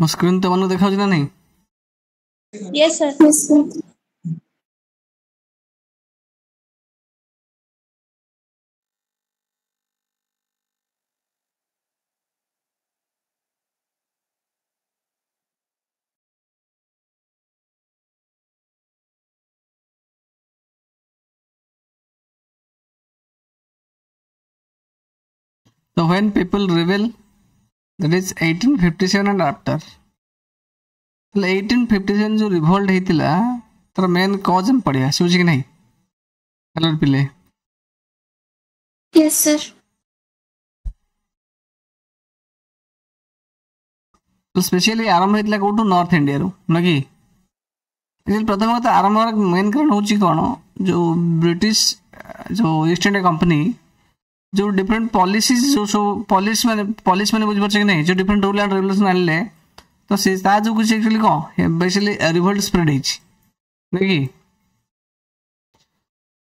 ମୋ ସ୍କ୍ରିନ୍ ତମମାନଙ୍କୁ ଦେଖାଉଛି ନା ନାହିଁ? Yes, sir. Yes, sir. So when people rebel, that is 1857 and after. ତାହେଲେ 1857 ଯୋଉ ରିଭଲ୍ଟ ହେଇଥିଲା, ତାର ମେନ୍ କଜ୍ ଆମେ ପଢିବା। ଶୁଭୁଛି କି ନାହିଁ? ହ୍ୟାଲୋ ପିଲେ। Yes, sir. ତ ସ୍ପେଶିଆଲି ଆରମ୍ଭ ହେଇଥିଲା କୋଉଠୁ? ନର୍ଥ ଇଣ୍ଡିଆରୁ ନା କି? Actually ପ୍ରଥମ କଥା, ଆରମ୍ଭ ମେନ୍ କାରଣ ହେଉଛି କ'ଣ, ଯୋଉ ବ୍ରିଟିଶ, ଯୋଉ ଇଷ୍ଟ ଇଣ୍ଡିଆ କମ୍ପାନୀ ଯୋଉ ଡିଫରେଣ୍ଟ ପଲିସିଜ, ଯୋଉ ସବୁ ପଲିସି ମାନେ ବୁଝିପାରୁଛ କି ନାହିଁ, ଯୋଉ ଡିଫରେଣ୍ଟ ରୁଲ୍ ଆଣ୍ଡ ରେଗୁଲେସନ ଆଣିଲେ, ତ ସେ ତା ଯୋଗୁଁ କିଛି ଆକ୍ଚୁଆଲି କ'ଣ ବେସିକାଲି ରିଭଲ୍ଟ ସ୍ପ୍ରେଡ୍ ହେଇଛି ନାଇଁ କି?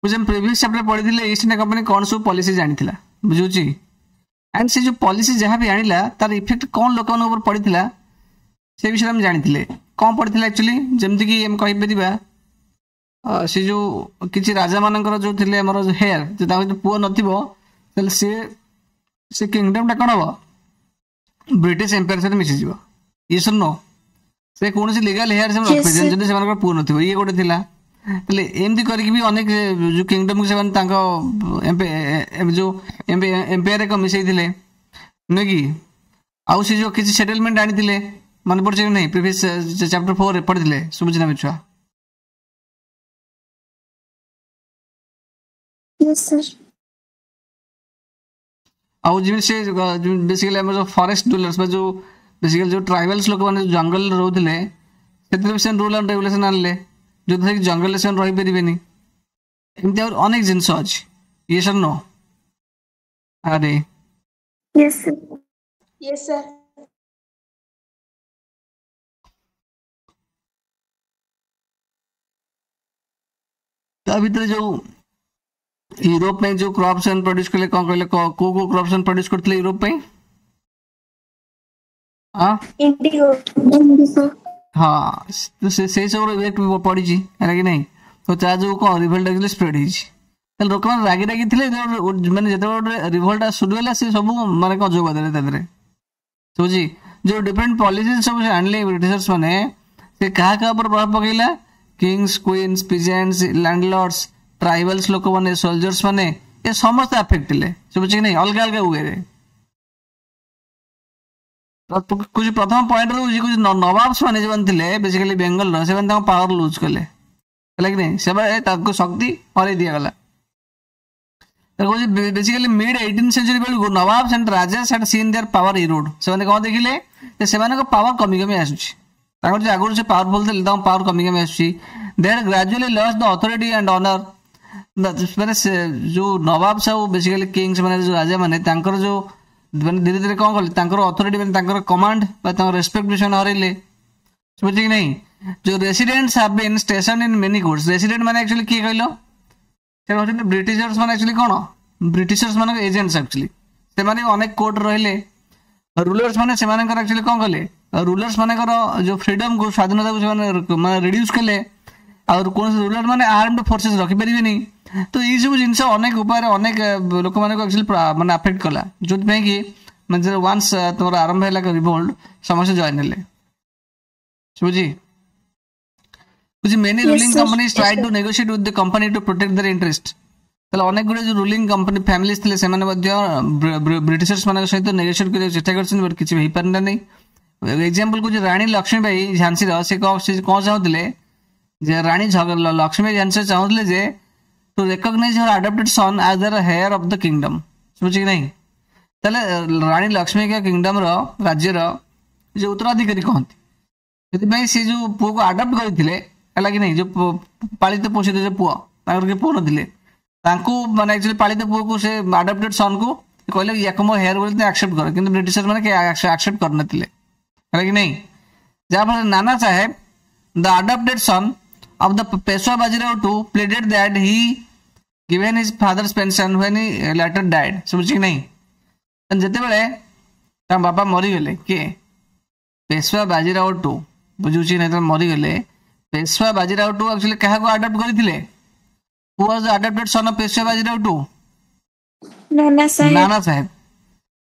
ବୁଝ, ପ୍ରିଭିୟସ୍ ଚାପ୍ଟର ପଢିଥିଲେ ଇଷ୍ଟ ଇଣ୍ଡିଆ କମ୍ପାନୀ କ'ଣ ସବୁ ପଲିସି ଆଣିଥିଲା, ବୁଝୁଛି? ଆଣ୍ଡ ସେ ଯୋଉ ପଲିସି ଯାହା ବି ଆଣିଲା, ତାର ଇଫେକ୍ଟ କ'ଣ ଲୋକମାନଙ୍କ ଉପରେ ପଡ଼ିଥିଲା, ସେ ବିଷୟରେ ଆମେ ଜାଣିଥିଲେ। କ'ଣ ପଡ଼ିଥିଲା ଆକ୍ଚୁଆଲି? ଯେମିତିକି ଆମେ କହିପାରିବା, ସେ ଯୋଉ କିଛି ରାଜାମାନଙ୍କର ଯୋଉ ଥିଲେ ଆମର ହେୟାର, ଯେ ତାଙ୍କର ଯଦି ପୁଅ ନଥିବ, ତାହେଲେ ସିଏ ସେ କିଙ୍ଗଡମଟା କ'ଣ ହବ? ବ୍ରିଟିଶ ଏମ୍ପାୟାର ସହିତ ମିଶିଯିବ। ଇଏ ନୋ, ସେ କୌଣସି ଲିଗାଲ ହେୟାର ସେମାନେ Yes, ରଖିପାରିବେନି sir. ଯଦି ସେମାନଙ୍କର ପୁଅ ନଥିବ। ଇଏ ଗୋଟେ ଥିଲା। ତାହେଲେ ଏମିତି କରିକି ବି ଅନେକ ଯୋଉ କିଙ୍ଗଡମକୁ ସେମାନେ ତାଙ୍କ ଯୋଉ ଏମ୍ପାୟାରରେ କ'ଣ ମିଶେଇଥିଲେ ନୁହେଁ କି? ଆଉ ସେ ଯୋଉ କିଛି ସେଟଲମେଣ୍ଟ ଆଣିଥିଲେ, ମନେ ପଡୁଛି କି ନାହିଁ? ପ୍ରିଭିୟସ୍ ଚାପ୍ଟର 4ରେ ପଢିଥିଲେ। ଶୁଭୁଛି ନା ଛୁଆ? Yes, sir. ଆଉ ଯେମିତି ସେ ବେସିକାଲି ଆମର ଯୋଉ ଫରେଷ୍ଟ ଡୁଏଲର୍ସ ବା ଯୋଉ ବେସିକାଲି ଯୋଉ ଟ୍ରାଇବାଲ୍ସ ଲୋକମାନେ ଯୋଉ ଜଙ୍ଗଲରେ ରହୁଥିଲେ, ସେଥିରେ ବି ସେମାନେ ରୁଲ୍ ଆଣ୍ଡ ରେଗୁଲେସନ ଆଣିଲେ, ଯୋଉଥିରେ କି ଜଙ୍ଗଲରେ ସେମାନେ ରହିପାରିବେନି। ଏମିତି ଆହୁରି ଅନେକ ଜିନିଷ ଅଛି। ୟେସ୍ ଅର୍ ନୋ? ଆରେ। Yes, sir. Yes, sir. ତା ଭିତରେ ଯୋଉ ୟୁରୋପ ପାଇଁ ଯୋଉ କ୍ରପ୍ ସେମାନେ ପ୍ରଡ୍ୟୁସ କଲେ, କଣ କହିଲେ, କୋଉ କୋଉ କ୍ରପ୍ ସେମାନେ ପ୍ରଡ୍ୟୁସ କରିଥିଲେ ୟୁରୋପ ପାଇଁ? ହଁ। Indigo. Indigo. ହଁ, ତ ସେ ସେଇ ସବୁର ଇଫେକ୍ଟ ବି ପଡିଛି, ହେଲା କି ନାହିଁ? ତ ତା ଯୋଉ କଣ ରିଭଲ୍ଟ ଆକ୍ଚୁଆଲି ସ୍ପ୍ରେଡ୍ ହେଇଛି। ତାହେଲେ ଲୋକମାନେ ରାଗି ରାଗି ଥିଲେ, ମାନେ ଯେତେବେଳେ ଗୋଟେ ରିଭଲ୍ଟ ଶୁରୁ ହେଲା, ସେ ସବୁ ମାନେ କଣ ଯୋଗ ଦେଲେ ତା ଦେହରେ। ବୁଝି, ଯୋଉ ଡିଫରେଣ୍ଟ ପଲିସି ସବୁ ସେ ଆଣିଲେ ବ୍ରିଟିଶର୍ସ ମାନେ, ସେ କାହା କାହା ଉପରେ ପ୍ରଭାବ ପକେଇଲା? କିଙ୍ଗସ୍, କୁଇନ୍ସ, ପିଜେଣ୍ଟସ୍, ଲ୍ୟାଣ୍ଡଲର୍ଡସ୍, ଟ୍ରାଇବାଲ୍ସ ଲୋକମାନେ, ସୋଲଜର୍ସ ମାନେ, ଏ ସମସ୍ତେ ଆଫେକ୍ଟ ଥିଲେ। ଶୁଭୁଛି କି ନାହିଁ? ଅଲଗା ଅଲଗା ୱେରେ। କିଛି ପ୍ରଥମ ପଏଣ୍ଟ ରହୁଛି, କିଛି ନବାବ୍ସ ମାନେ ଯେଉଁମାନେ ଥିଲେ ବେସିକାଲି ବେଙ୍ଗଲର, ସେମାନେ ତାଙ୍କ ପାୱାର ଲୁଜ୍ କଲେ, ହେଲା କି ନାହିଁ? ସେମାନେ ତାଙ୍କୁ ଶକ୍ତି ହରେଇ ଦିଆଗଲା। କହୁଛି, ବେସିକାଲି ମିଡ୍ 18 ସେଞ୍ଚୁରୀ ବେଳକୁ Nawabs and Rajas had seen their power erode. ସେମାନେ କଣ ଦେଖିଲେ ଯେ ସେମାନଙ୍କ ପାୱାର କମି କମି ଆସୁଛି। ତାଙ୍କର ଯୋଉ ଆଗରୁ ସେ ପାୱାରଫୁଲ ଥିଲେ, ତାଙ୍କ ପାୱାର କମି କମି ଆସୁଛି। They had gradually lost the authority and honour. ମାନେ ସେ ଯୋଉ ନବାବ୍ସ ଆଉ ବେସିକାଲି କିଙ୍ଗସ୍ ମାନେ, ଯୋଉ ରାଜା ମାନେ, ତାଙ୍କର ଯୋଉ ମାନେ ଧୀରେ ଧୀରେ କଣ କଲେ, ତାଙ୍କର ଅଥରିଟି ମାନେ ତାଙ୍କର କମାଣ୍ଡ ବା ତାଙ୍କର ରେସପେକ୍ଟ ବି ସେମାନେ ହରେଇଲେ। ବୁଝୁଛି କି ନାହିଁ? ଯୋଉ Residents have been stationed in many courts. Resident ମାନେ ଆକ୍ଚୁଆଲି କିଏ କହିଲ? ସେ ହେଉଛନ୍ତି ବ୍ରିଟିଶର୍ସ ମାନେ। ଆକ୍ଚୁଆଲି କଣ, ବ୍ରିଟିଶର୍ସ ମାନଙ୍କ ଏଜେଣ୍ଟସ୍ ଆକ୍ଚୁଆଲି। ସେମାନେ ବି ଅନେକ କୋର୍ଟ ରହିଲେ। ରୁଲର୍ସ ମାନେ ସେମାନଙ୍କର ଆକ୍ଚୁଆଲି କଣ କଲେ, ରୁଲର୍ସ ମାନଙ୍କର ଯୋଉ ଫ୍ରିଡମକୁ, ସ୍ୱାଧୀନତାକୁ ସେମାନେ ମାନେ ରିଡ୍ୟୁସ୍ କଲେ। ଆଉ କୌଣସି ରୁଲର ମାନେ ଆର୍ମଡ ଫୋର୍ସେସ୍ ରଖିପାରିବେନି। ତ ଏଇ ସବୁ ଜିନିଷ ଅନେକ ଉପାୟରେ ଅନେକ ଲୋକମାନଙ୍କୁ ଆକ୍ଚୁଆଲି ମାନେ ଆଫେକ୍ଟ କଲା, ଯୋଉଥିପାଇଁ କି ମାନେ ୱାନ୍ସ ତୁମର ଆରମ୍ଭ ହେଲା ରିଭୋଲ୍ଟ, ସମସ୍ତେ ଜଏନ୍ ହେଲେ। ବୁଝି ବୁଝି, many Yes, ruling sir. companies Yes, tried sir. to negotiate with the company to protect their interest. ତାହେଲେ ଅନେକ ଗୁଡ଼ିଏ ଯୋଉ ରୁଲିଂ କମ୍ପାନୀ ଫ୍ୟାମିଲିଜ ଥିଲେ, ସେମାନେ ମଧ୍ୟ ବ୍ରିଟିଶର୍ସ ମାନଙ୍କ ସହିତ ନେଗୋସିଏଟ୍ କରିବାକୁ ଚେଷ୍ଟା କରିଛନ୍ତି, ବଟ୍ କିଛି ହେଇପାରିଲା ନାହିଁ। ଏକ୍ଜାମ୍ପଲ କହୁଛି, ରାଣୀ ଲକ୍ଷ୍ମୀବାଇ ଝାନ୍ସୀର, ସେ କଣ ଚାହୁଁଥିଲେ ଯେ ରାଣୀ ଲକ୍ଷ୍ମୀବାଇ ଝାନ୍ସୀ ଚାହୁଁଥିଲେ ଯେ to recognize her adopted son as their heir of the kingdom. ଶୁଭୁଛି କି ନାହିଁ? ତାହେଲେ ରାଣୀ ଲକ୍ଷ୍ମୀଙ୍କ କିଙ୍ଗଡମର, ରାଜ୍ୟର ଯୋଉ ଉତ୍ତରାଧିକାରୀ କହନ୍ତି, ସେଥିପାଇଁ ସେ ଯୋଉ ପୁଅକୁ ଆଡପ୍ଟ କରିଥିଲେ, ହେଲା କି ନାହିଁ, ଯୋଉ ପାଳିତ ପୋଷିତ ଯୋଉ ପୁଅ, ତାଙ୍କର କେହି ପୁଅ ନଥିଲେ, ତାଙ୍କୁ ମାନେ ଆକ୍ଚୁଆଲି ପାଳିତ ପୁଅକୁ, ସେ ଆଡପ୍ଟେଡ ସନ୍କୁ କହିଲେ ୟାକୁ ମୋ ହେୟାର ବୋଲି ଆକ୍ସେପ୍ଟ କର। କିନ୍ତୁ ବ୍ରିଟିଶର ମାନେ କେହି ଆକ୍ସେପ୍ଟ କରିନଥିଲେ, ହେଲା କି ନାହିଁ? ଯାହାଫଳରେ ନାନା ସାହେବ, the adopted son of the Peshwa Bajirao II, pleaded that he given his father's pension when he later died. ଶୁଭୁଛି କି ନାହିଁ? ଯେତେବେଳେ ତାଙ୍କ ବାପା ମରିଗଲେ, କିଏ? ପେଶୱା ବାଜିରାଓ ଟୁ, ବୁଝୁଛି ନା, ଯେତେବେଳେ ମରିଗଲେ ପେଶୱା ବାଜିରାଓ ଟୁ ଆକ୍ଚୁଆଲି କାହାକୁ ଆଡପ୍ଟ କରିଥିଲେ? Who was the adopted son of Peshwa Bajirao two? Nana Saheb. ନାନା ସାହେବ।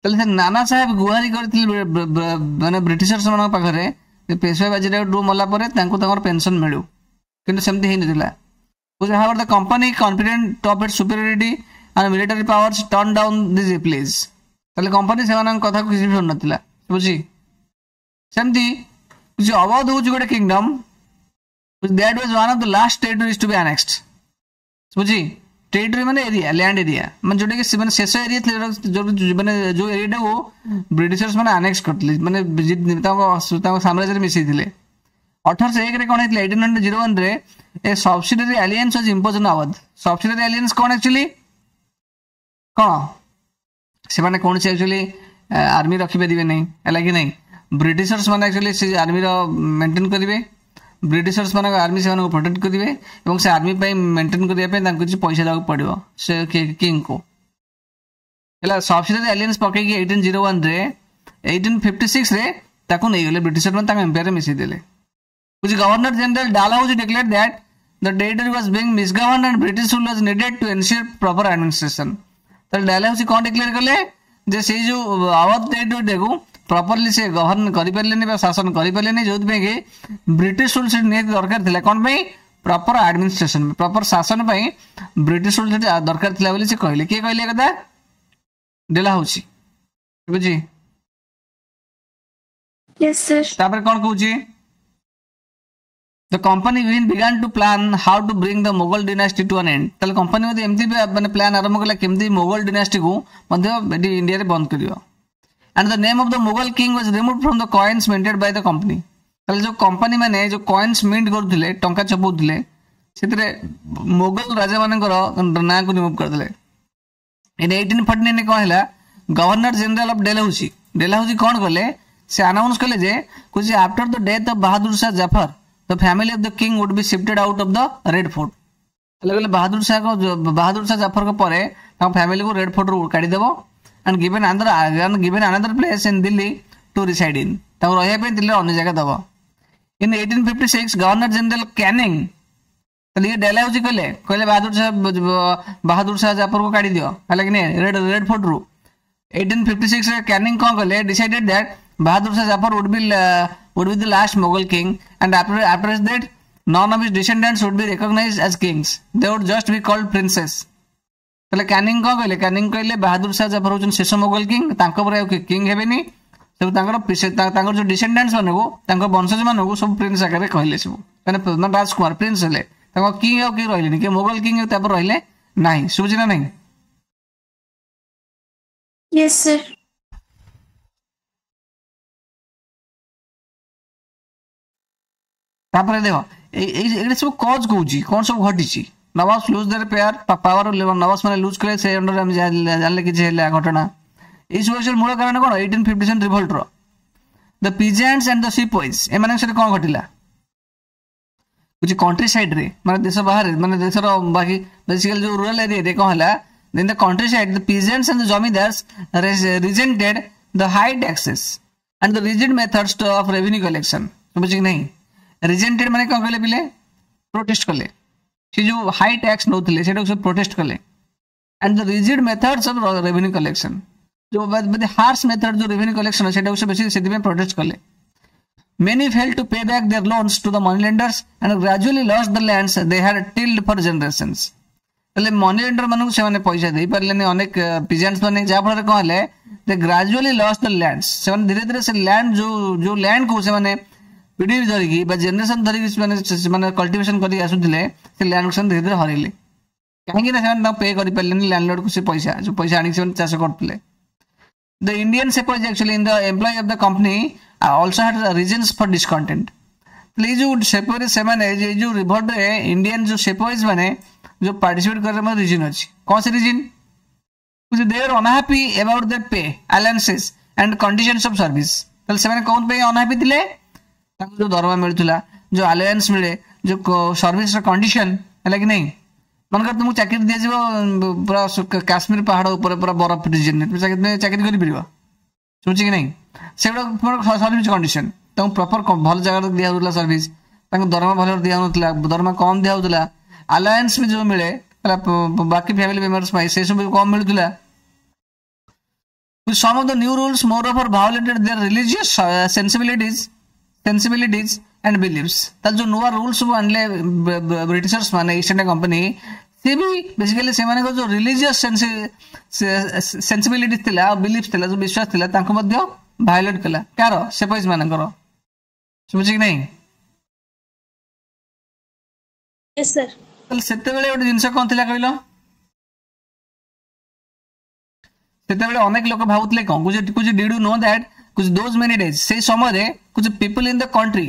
ତାହେଲେ ସେ ନାନା ସାହେବ ଗୁହାରି କରିଥିଲେ ମାନେ ବ୍ରିଟିଶର୍ସ ମାନଙ୍କ ପାଖରେ ଯେ ପେଶୱା ବାଜିରାଓ ଟୁ ମଲା ପରେ ତାଙ୍କୁ ତାଙ୍କର ପେନସନ ମିଳୁ, କିନ୍ତୁ ସେମିତି ହେଇନଥିଲା। However, the company, confident of its superiority and military powers, turned down these pleas. ତାହେଲେ କମ୍ପାନୀ ସେମାନଙ୍କ କଥାକୁ କିଛି ବି ଶୁଣୁନଥିଲା, ବୁଝି। ସେମିତି କିଛି ଅବଧ ହଉଛି ଗୋଟେ kingdom that was one of the last territories to be annexed. ବୁଝି, ଟେରିଟୋରି ମାନେ ଏରିଆ, ଲ୍ୟାଣ୍ଡ ଏରିଆ, ମାନେ ଯୋଉଟାକି ସେମାନେ ଶେଷ ଏରିଆ ଥିଲା, ଯୋଉ ମାନେ ଯୋଉ ଏରିଆଟାକୁ ବ୍ରିଟିଶର୍ସ ମାନେ ଆନେକ୍ସ କରିଥିଲେ, ମାନେ ତାଙ୍କ ସାମ୍ରାଜ୍ୟରେ ମିଶେଇଥିଲେ। 1801ରେ କ'ଣ ହେଇଥିଲା? 1801ରେ a subsidiary alliance was imposed on Awadh. Subsidiary alliance କ'ଣ ଆକ୍ଚୁଆଲି? କ'ଣ ସେମାନେ କୌଣସି ଆକ୍ଚୁଆଲି ଆର୍ମି ରଖିପାରିବେ ନାହିଁ, ହେଲା କି ନାହିଁ? ବ୍ରିଟିଶର୍ସ ମାନେ ଆକ୍ଚୁଆଲି ସେ ଆର୍ମିର ମେଣ୍ଟେନ୍ କରିବେ, ବ୍ରିଟିଶର୍ସ ମାନଙ୍କ ଆର୍ମି ସେମାନଙ୍କୁ ପ୍ରୋଟେକ୍ଟ କରିବେ ଏବଂ ସେ ଆର୍ମି ପାଇଁ ମେଣ୍ଟେନ୍ କରିବା ପାଇଁ ତାଙ୍କୁ କିଛି ପଇସା ଦେବାକୁ ପଡ଼ିବ ସେ କିଙ୍ଗକୁ, ହେଲା। ସବସିଡାରୀ ଆଲିଆନ୍ସ ପକେଇକି 1801ରେ, 1856ରେ ତାକୁ ନେଇଗଲେ ବ୍ରିଟିଶର ମାନେ, ତାଙ୍କ ଏମ୍ପାୟାରରେ ମିଶେଇ ଦେଲେ। ବୁଝି, Governor General Dalhousie declared that the territory was being misgoverned and British rule was needed to ensure proper administration. ତାହେଲେ ଡାଲହାଉସି କ'ଣ ଡିକ୍ଲେୟାର କଲେ ଯେ ସେଇ ଯୋଉ ଆୱଧ ଟେରିଟୋରିଟାକୁ ପ୍ରପରଲି ସେ ଗଭର୍ନ କରିପାରିଲେନି ବା ଶାସନ କରିପାରିଲେନି, ଯୋଉଥିପାଇଁ କି ବ୍ରିଟିଶ ରୁଲ ସେଠି ନିହାତି ଦରକାର ଥିଲା। କ'ଣ ପାଇଁ? ପ୍ରପର ଆଡମିନିଷ୍ଟ୍ରେସନ, ପ୍ରପର ଶାସନ ପାଇଁ ବ୍ରିଟିଶ ରୁଲ ସେଠି ଦରକାର ଥିଲା ବୋଲି ସେ କହିଲେ। କିଏ କହିଲେ ଏ କଥା? ଡେଲାହାଉସି, ବୁଝି। Yes, sir. ତାପରେ କ'ଣ କହୁଛି? The company even began to plan how to bring the Mughal dynasty to an end. ତାହେଲେ କମ୍ପାନୀ ମଧ୍ୟ ଏମିତି ବି ମାନେ ପ୍ଲାନ୍ ଆରମ୍ଭ କଲା କେମିତି ମୋଗଲ ଡିନାଷ୍ଟିକୁ ମଧ୍ୟ ଏଠି ଇଣ୍ଡିଆରେ ବନ୍ଦ କରିବ। And the name of the Mughal king was removed from the coins minted by the company. ତାହେଲେ ଯୋଉ କମ୍ପାନୀ ମାନେ ଯୋଉ କଏନ୍ସ ମିଣ୍ଟ କରୁଥିଲେ, ଟଙ୍କା ଛପଉଥିଲେ, ସେଥିରେ ମୋଗଲ ରାଜାମାନଙ୍କର ନାଁକୁ ରିମୁଭ୍ କରିଦେଲେ। ଇନ୍ 1849 କ'ଣ ହେଲା? Governor general of Dalhousie, Dalhousie କ'ଣ କଲେ? ସେ ଆନାଉନ୍ସ କଲେ ଯେ କହୁଛି, after the death of Bahadur Shah Zafar, the family of the king would be shifted out of the Red Fort. ତାହେଲେ କହିଲେ ବାହାଦୁର ଶାହ ଜାଫରଙ୍କ ପରେ ତାଙ୍କ ଫ୍ୟାମିଲିକୁ red ଫୋର୍ଟରୁ କାଢିଦେବ and given another place in Delhi to reside in. ତାଙ୍କୁ ରହିବା ପାଇଁ ଦିଲ୍ଲୀରେ ଅନ୍ୟ ଜାଗା ଦବ। In 1856, Governor General Canning, ତାହେଲେ ଇଏ ଡେଲହାଉସି କହିଲେ ବାହାଦୁର ଶାହ ଜାଫରକୁ କାଢି ଦିଅ, ହେଲା କି ନାଇଁ, ରେଡ୍ ଫୋର୍ଟରୁ। 1856ରେ କ୍ୟାନିଂ କ'ଣ କଲେ? Decided that Bahadur Shah Zafar would be the last Mughal king, and after his death, none of his descendants would be recognized as kings. They would just be called princes. ତାହେଲେ Canning କ'ଣ କହିଲେ? Canning କହିଲେ ବାହାଦୁର ଶାହ ଜାଫର ହଉଛନ୍ତି ଶେଷ Mughal king, ତାଙ୍କ ପରେ ଆଉ king ହେବେନି। ସବୁ ତାଙ୍କର ଯୋଉ ଡିସେଣ୍ଡାଣ୍ଟସ୍ ମାନଙ୍କୁ, ତାଙ୍କ ବଂଶଜ ମାନଙ୍କୁ ସବୁ ପ୍ରିନ୍ସ ଆକାରରେ କହିଲେ ସବୁ, ମାନେ ରାଜକୁମାର ପ୍ରିନ୍ସ ହେଲେ। ତାଙ୍କ କିଙ୍ଗ ଆଉ କେହି ରହିଲେନି, କିଏ ମୋଗଲ କିଙ୍ଗ ତାପରେ ରହିଲେ ନାହିଁ। ଶୁଭୁଛି ନା ନାହିଁ? Yes, sir. ତାପରେ ଦେଖ, ଏଇ ଏଇଟା ସବୁ କଜ୍ କହୁଛି କ'ଣ ସବୁ ଘଟିଛି। Nawabs lose their power. ନବାବ୍ସ ମାନେ ଲୁଜ୍ କଲେ, ସେ ଅଣ୍ଡରରେ ଆମେ ଜାଣିଲେ କିଛି ହେଲା ଘଟଣା। ଏଇ ସବୁ actually ମୂଳ କାରଣ କ'ଣ 1857 ରିଭଲ୍ଟର? The peasants and the sepoys, ଏମାନଙ୍କ ସହିତ କ'ଣ ଘଟିଲା? କିଛି କଣ୍ଟ୍ରି ସାଇଡ୍ରେ, ମାନେ ଦେଶ ବାହାରେ, ମାନେ ଦେଶର ବାକି ବେସିକାଲି ଯୋଉ ରୁରାଲ ଏରିଆରେ କ'ଣ ହେଲା? In the countryside, the peasants and the zamindars resented the high taxes and the rigid methods of revenue collection. ବୁଝି କି ନାହିଁ? ରିଜେଣ୍ଟେଡ୍ ମାନେ କ'ଣ କହିଲେ ପିଲେ? ପ୍ରୋଟେଷ୍ଟ କଲେ। ସେ ଯୋଉ ହାଇ ଟ୍ୟାକ୍ସ ନେଉଥିଲେ ସେଇଟାକୁ ସବୁ ପ୍ରୋଟେଷ୍ଟ କଲେ, and the rigid methods of revenue collection, ଯୋଉ ହାର୍ସ ମେଥଡ ଯୋଉ ରେଭିନ୍ୟୁ କଲେକ୍ସନ, ସେଇଟାକୁ ସେ ବେଶୀ ସେଥିପାଇଁ ପ୍ରୋଟେଷ୍ଟ କଲେ। Many failed to pay back their loans to the moneylenders and gradually lost the lands they had tilled for generations. ତାହେଲେ money lender ମାନଙ୍କୁ ସେମାନେ ପଇସା ଦେଇପାରିଲେନି ଅନେକ ପିଜାଣ୍ଟସ୍ ମାନେ, ଯାହାଫଳରେ କ'ଣ ହେଲେ? They gradually lost the lands. ସେମାନେ ଧୀରେ ଧୀରେ ସେ ଲ୍ୟାଣ୍ଡ, ଯୋଉ ଲ୍ୟାଣ୍ଡକୁ ସେମାନେ ପିଢ଼ି ଧରିକି ବା ଜେନେରେସନ ଧରିକି ସେମାନେ କଲ୍ଟିଭେସନ କରିକି ଆସୁଥିଲେ, ସେ ଲ୍ୟାଣ୍ଡକୁ ସେମାନେ ଧୀରେ ଧୀରେ ହରେଇଲେ। କାହିଁକି ନା ସେମାନେ ତାଙ୍କୁ ପେ କରିପାରିଲେନି ଲ୍ୟାଣ୍ଡଲର୍ଡକୁ ସେ ପଇସା, ଯୋଉ ପଇସା ଆଣିକି ସେମାନେ ଚାଷ କରୁଥିଲେ। The Indian sepoys actually in the employee of the company also had reasons for discontent. ତାହେଲେ ଏଇ ଯୋଉ ସେପୋରେ ସେମାନେ ଏଇ ଯୋଉ ରିଭଲ୍ଟରେ ଇଣ୍ଡିଆନ ଯୋଉ ସେପୋଇଜ ମାନେ ଯୋଉ ପାର୍ଟିସିପେଟ କରିବାର ମଧ୍ୟ ରିଜନ ଅଛି। କ'ଣ ସେ reason? They are unhappy about their pay, allowances and conditions of service. ତାହେଲେ ସେମାନେ କ'ଣ ପାଇଁ ଅନହାପି ଥିଲେ? ତାଙ୍କୁ ଯୋଉ ଦରମା ମିଳୁଥିଲା, ଯୋଉ ଆଲାଉନ୍ସ ମିଳେ, ଯୋଉ ସର୍ଭିସର କଣ୍ଡିସନ, ହେଲା କି ନାହିଁ? ମନେକର ତୁମକୁ ଚାକିରି ଦିଆଯିବ ପୁରା କାଶ୍ମୀର ପାହାଡ଼ ଉପରେ, ପୁରା ବରଫ ରିଜନରେ, ତୁମେ ଚାକିରି କରିପାରିବ? ଶୁଭୁଛି କି ନାହିଁ? ସେଗୁଡ଼ା ତୁମର ସର୍ଭିସ କଣ୍ଡିସନ। ତାଙ୍କୁ ପ୍ରପର ଭଲ ଜାଗାରେ ଦିଆହେଉଥିଲା ସର୍ଭିସ, ତାଙ୍କୁ ଦରମା ଭଲରେ ଦିଆହେଉନଥିଲା, ଦରମା କମ୍ ଦିଆହେଉଥିଲା। ଆଲାଏନ୍ସ ବି ଯେଉଁ ମିଳେ ହେଲା ବାକି ଫ୍ୟାମିଲି ମେମ୍ବର୍ସ ପାଇଁ, ସେସବୁ ବି କମ୍ ମିଳୁଥିଲା। Some of the new rules moreover violated their religious sensibilities and beliefs. ତାହେଲେ ଯୋଉ ନୂଆ ରୁଲ୍ସ ସବୁ ଆଣିଲେ ବ୍ରିଟିଶର୍ସ ମାନେ, ଇଷ୍ଟ ଇଣ୍ଡିଆ କମ୍ପାନୀ, ସେ ବି ବେସିକାଲି ସେମାନଙ୍କର ଯୋଉ ରିଲିଜିୟସ୍ ସେନ୍ସିବିଲିଟି ଥିଲା ଆଉ ବିଲିଫ୍ସ ଥିଲା, ଯୋଉ ବିଶ୍ୱାସ ଥିଲା, ତାଙ୍କୁ ମଧ୍ୟ ଭାয়োଲେଟ୍ କଲା। କାହାର? ସେପୋଇଜ ମାନଙ୍କର। ଶୁଭୁଛି କି ନାହିଁ? Yes, sir. ତାହେଲେ ସେତେବେଳେ ଗୋଟେ ଜିନିଷ କଣ ଥିଲା କହିଲ? ସେତେବେଳେ ଅନେକ ଲୋକ ଭାବୁଥିଲେ କଣ କହୁଛି, did you know that କହୁଛି those many days, ସେଇ ସମୟରେ କହୁଛି ପିପୁଲ ଇନ୍ the country,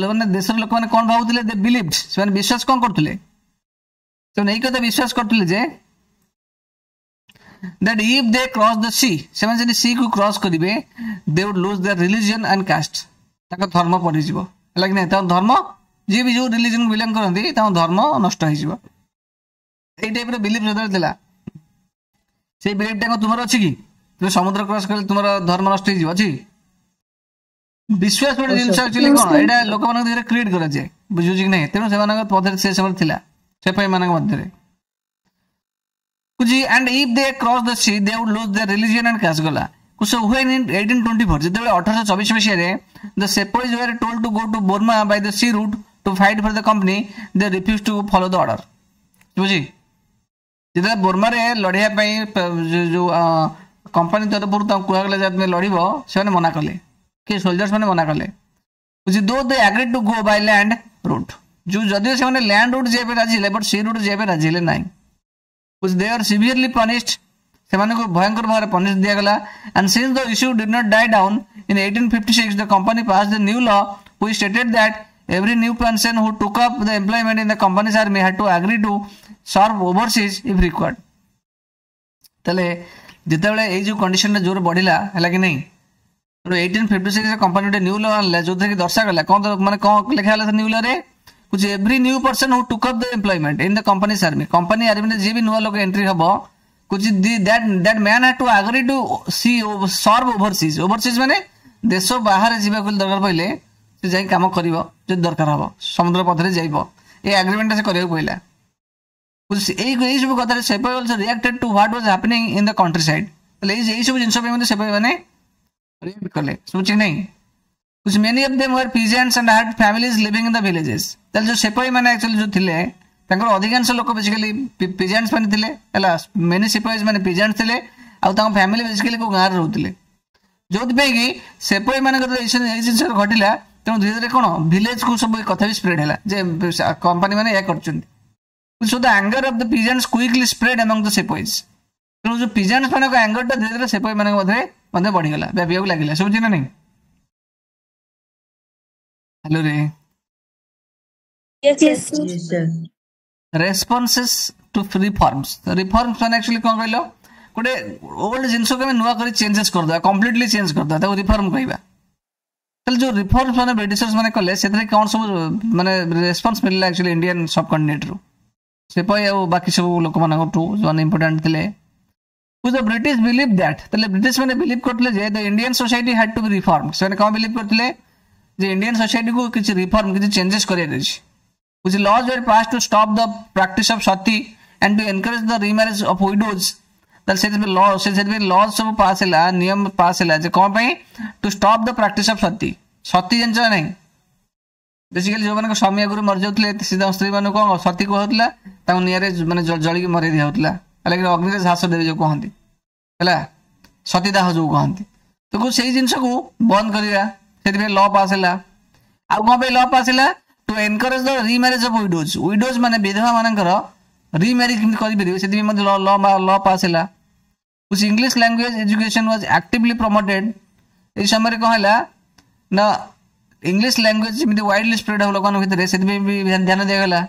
ମାନେ ଦେଶର ଲୋକମାନେ କଣ ଭାବୁଥିଲେ? ଦେ ବିଲିଭ୍ଡ, ସେମାନେ ବିଶ୍ୱାସ କଣ କରୁଥିଲେ? ସେମାନେ ଏଇ କଥା ବିଶ୍ୱାସ କରୁଥିଲେ ଯେ that if they cross the sea, ସେମାନେ ଯଦି sea କୁ କ୍ରସ୍ କରିବେ, they would lose their religion and caste, ତାଙ୍କ ଧର୍ମ ପଡ଼ିଯିବ। ହେଲା କି ନାହିଁ? ତାଙ୍କ ଧର୍ମ, ଯିଏ ବି ଯୋଉ ରିଲିଜନକୁ ବିଲଙ୍ଗ କରନ୍ତି, ତାଙ୍କ ଧର୍ମ ନଷ୍ଟ ହେଇଯିବ। ଏଇ ଟାଇପର ବିଲିଫ ଯେତେବେଳେ ଥିଲା, ସେଇ ବିଲିଫଟା କଣ ତୁମର ଅଛି କି? ତୁମେ ସମୁଦ୍ର କ୍ରସ୍ କଲେ ତୁମର ଧର୍ମ ନଷ୍ଟ ହେଇଯିବ, ଅଛି? ବିଶ୍ୱାସ ଗୋଟେ ଜିନିଷ ଆକ୍ଚୁଆଲି କଣ, ଏଇଟା ଲୋକମାନଙ୍କ ଦେହରେ କ୍ରିଏଟ କରାଯାଏ, ବୁଝୁଛି କି ନାହିଁ? ତେଣୁ ସେମାନଙ୍କ ମଧ୍ୟରେ ସେ ସମୟରେ ଥିଲା, ସେପାଇ ମାନଙ୍କ ମଧ୍ୟରେ ବୁଝି। And if they cross the sea, they would lose their religion and caste ଗଲା। So when in 1824, ଯେତେବେଳେ 1824 ମସିହାରେ the sepoys were told to go to Burma by the sea route to fight for the company, they refused to follow the order. ବୁଝି, ଯେତେବେଳେ ବର୍ମାରେ ଲଢ଼ିବା ପାଇଁ ଯୋଉ company ତରଫରୁ ତାଙ୍କୁ କୁହାଗଲା ଯେ ତୁମେ ଲଢ଼ିବ, ସେମାନେ ମନା କଲେ। କି ସୋଲଜର୍ସ ମାନେ ମନା କଲେ। ବୁଝି, though they agreed to go by land route, ଯୋଉ ଯଦିଓ ସେମାନେ ଲ୍ୟାଣ୍ଡ ରୁଟ୍ ଯିବା ପାଇଁ ରାଜି ହେଲେ, ବଟ୍ ସି ରୁଟ୍ ଯିବା ପାଇଁ ରାଜି ହେଲେ ନାହିଁ। ବୁଝି, they are severely punished, ସେମାନଙ୍କୁ ଭୟଙ୍କର ଭାବରେ ପନିଶ ଦିଆଗଲା। And since the issue did not die down, in 1856 the company passed the new law which stated that every new person who took up the employment in the company's army had to agree to serve overseas if required. ତାହେଲେ ଯେତେବେଳେ ଏଇ ଯୋଉ କଣ୍ଡିସନଟା ଜୋର ବଢିଲା, ହେଲା କି ନାହିଁ, ତେଣୁ 1856 କମ୍ପାନୀ ଗୋଟେ ନ୍ୟୁ ଲ ଆଣିଲା, ଯୋଉଥିରେ କି ଦର୍ଶାଗଲା କଣ, ମାନେ କଣ ଲେଖା ହେଲା ସେ ନ୍ୟୁ ଲରେ? କହୁଛି every new person who took up the employment in the company's army, company ଆର୍ମିରେ ଯିଏ ବି ନୂଆ ଲୋକ ଏଣ୍ଟ୍ରି ହବ, କହୁଛି that man had to agree to see serve overseas. Overseas ମାନେ ଦେଶ ବାହାରେ ଯିବାକୁ ଦରକାର ପଡ଼ିଲେ ସେ ଯାଇ କାମ କରିବ, ଯଦି ଦରକାର ହବ ସମୁଦ୍ର ପଥରେ ଯାଇବ, ଏ ଆଗ୍ରିମେଣ୍ଟଟା ସେ କରିବାକୁ ପଡ଼ିଲା। ଏଇ ସବୁ କଥାରେ sepoy also reacted to what was happening in the countryside. ତାହେଲେ ଏଇ ସବୁ ଜିନିଷ ପାଇଁ ମଧ୍ୟ ସେପାଇ ମାନେ ରିଆକ୍ଟ କଲେ। ଶୁଭୁଛି ନାହିଁ? Many of them were peasants and had families living in the villages. ତାହେଲେ ଯୋଉ ସେପାଇ ମାନେ ଆକ୍ଚୁଆଲି ଯୋଉ ଥିଲେ, ତାଙ୍କର ଅଧିକାଂଶ ଲୋକ ବେସିକାଲି ପିଜାଣ୍ଟସ୍ ମାନେ ଥିଲେ। ହେଲା, ମେନି ସିପାଇଜ ମାନେ ପିଜାଣ୍ଟ ଥିଲେ ଆଉ ତାଙ୍କ ଫ୍ୟାମିଲି ବେସିକାଲି କୋଉ ଗାଁରେ ରହୁଥିଲେ, ଯୋଉଥିପାଇଁ କି ସେପାଇ ମାନଙ୍କର ଏଇ ଜିନିଷ ଘଟିଲା। ତେଣୁ ଧୀରେ ଧୀରେ କଣ ଭିଲେଜକୁ ସବୁ କଥା ବି ସ୍ପ୍ରେଡ୍ ହେଲା ଯେ କମ୍ପାନୀ ମାନେ ଏହା କରୁଛନ୍ତି। So the anger of the peasants quickly spread among the sepoys. ତେଣୁ ଯୋଉ ପିଜାଣ୍ଟସ୍ ମାନଙ୍କ ଆଙ୍ଗରଟା ଧୀରେ ଧୀରେ ସେପାଇ ମାନଙ୍କ ମଧ୍ୟରେ ମଧ୍ୟ ବଢିଗଲା, ବ୍ୟାପିବାକୁ ଲାଗିଲା। ଶୁଭୁଛି ନା ନାଇଁ? ହ୍ୟାଲୋ ରେ? Yes, Yes, sir. sir. Yes, sir. Responses to reforms. Reforms ମାନେ ଆକ୍ଚୁଆଲି କଣ କହିଲ? ଗୋଟେ ଓଲ୍ଡ ଜିନିଷକୁ ଆମେ ନୂଆ କରି ଚେଞ୍ଜେସ୍ କରିଦେବା, କମ୍ପ୍ଲିଟଲି ଚେଞ୍ଜ କରିଦେବା, ତାକୁ ରିଫର୍ମ କହିବା। ତାହେଲେ ଯୋଉ ରିଫର୍ମସ୍ ମାନେ ବ୍ରିଟିଶର୍ସ ମାନେ କଲେ, ସେଥିରେ କଣ ସବୁ ମାନେ ରେସ୍ପନ୍ସ ମିଳିଲା ଆକ୍ଚୁଆଲି ଇଣ୍ଡିଆନ୍ ସବ୍ କଣ୍ଟିନେଣ୍ଟରୁ, ସେପାଇ ଆଉ ବାକି ସବୁ ଲୋକମାନଙ୍କଠୁ ଯୋଉମାନେ ଇମ୍ପୋର୍ଟାଣ୍ଟ ଥିଲେ। The British believe that, ତାହେଲେ ବ୍ରିଟିଶ ମାନେ ବିଲିଭ୍ କରୁଥିଲେ ଯେ the Indian society had to be reform. ସେମାନେ କଣ ବିଲିଭ୍ କରୁଥିଲେ? ଯେ ଇଣ୍ଡିଆନ୍ ସୋସାଇଟିକୁ କିଛି ରିଫର୍ମ, କିଛି ଚେଞ୍ଜେସ୍ କରିବାର ଅଛି। Which laws were passed to stop the practice of sati and to encourage the remarriage of widows. ତାହେଲେ ସେଥିପାଇଁ ଲ, ସେଥିପାଇଁ ଲ ସବୁ ପାସ୍ ହେଲା, ନିୟମ ପାସ୍ ହେଲା ଯେ କଣ ପାଇଁ? To stop the practice of sati. ସତୀ ଜାଣିଛ ନା ନାହିଁ? ବେସିକାଲି ଯୋଉମାନଙ୍କ ସ୍ୱାମୀ ଆଗରୁ ମରିଯାଉଥିଲେ, ସେ ତାଙ୍କ ସ୍ତ୍ରୀ ମାନଙ୍କୁ କଣ ସତୀ କୁହାଉଥିଲା, ତାଙ୍କୁ ନିଆଁରେ ମାନେ ଜଳିକି ମରେଇ ଦିଆହଉଥିଲା। ହେଲା କି ଅଗ୍ନିରେ ଝାସ ଦେବେ ଯୋଉ କହନ୍ତି, ହେଲା ସତୀଦାହ ଯୋଉ କହନ୍ତି, ତ ସେଇ ଜିନିଷକୁ ବନ୍ଦ କରିବା, ସେଥିପାଇଁ ଲ ପାସ୍ ହେଲା। ଆଉ କଣ ପାଇଁ ଲ ପାସ୍ ହେଲା? To encourage the remarriage of widows. Widows ମାନେ ବିଧବା ମାନଙ୍କର ରିମ୍ୟାରେଜ କେମିତି କରିପାରିବେ, ସେଥିପାଇଁ ମଧ୍ୟ ଲ ପାସ୍ ହେଲା। English language education was actively promoted. ଏଇ ସମୟରେ କଣ ହେଲା ନା, ଇଂଲିଶ ଲାଙ୍ଗୁଏଜ ଯେମିତି ୱାଇଡଲି ସ୍ପ୍ରେଡ୍ ହବ ଲୋକମାନଙ୍କ ଭିତରେ, ସେଥିପାଇଁ ବି ଧ୍ୟାନ ଦିଆଗଲା।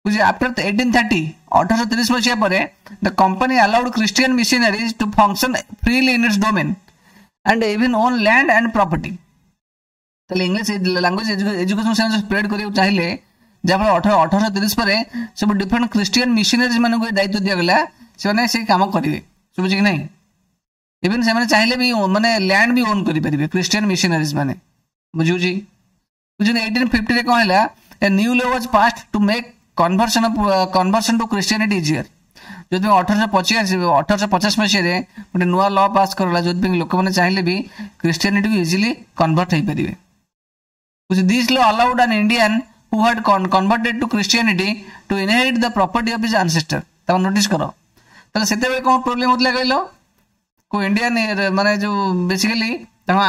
ବୁଝି, ଆଫ୍ଟର 1830, 1830 ମସିହା ପରେ the company allowed Christian missionaries to function freely in its domain and even own land and property. ତାହେଲେ ଇଂଲିଶ ଲାଙ୍ଗୁଏଜ ଏଜୁକେସନ ସେମାନେ ସ୍ପ୍ରେଡ୍ କରିବାକୁ ଚାହିଁଲେ, ଯାହାଫଳରେ 1830 ପରେ ସବୁ ଡିଫରେଣ୍ଟ ଖ୍ରୀଷ୍ଟିଆନ ମିଶନାରିଜ ମାନଙ୍କୁ ଏ ଦାୟିତ୍ୱ ଦିଆଗଲା, ସେମାନେ ସେଇ କାମ କରିବେ। ଶୁଭୁଛି କି ନାହିଁ? ଇଭେନ୍ ସେମାନେ ଚାହିଁଲେ ବି ମାନେ ଲ୍ୟାଣ୍ଡ ବି ଓନ୍ କରିପାରିବେ ଖ୍ରୀଷ୍ଟିଆନ ମିଶନାରିଜ ମାନେ। ବୁଝୁଛି? ବୁଝୁଛନ୍ତି? 1850ରେ କ'ଣ ହେଲା? A new law was passed to make conversion to Christianity easier. ଯେଉଁଥିପାଇଁ 1850 ମସିହାରେ ଗୋଟେ ନୂଆ ଲ ପାସ୍ କରାଗଲା, ଯେଉଁଥିପାଇଁ ଲୋକମାନେ ଚାହିଁଲେ ବି ଖ୍ରୀଷ୍ଟିଆନିଟିକୁ ଇଜିଲି କନଭର୍ଟ ହେଇପାରିବେ। This law allowed an Indian who had converted to Christianity to inherit the property of his ancestor. ତାକୁ ନୋଟିସ୍ କର। ତାହେଲେ ସେତେବେଳେ କ'ଣ ପ୍ରୋବ୍ଲେମ୍ ହେଉଥିଲା କହିଲ? କୋଉ ଇଣ୍ଡିଆନ୍ ମାନେ ଯୋଉ ବେସିକାଲି ତାଙ୍କ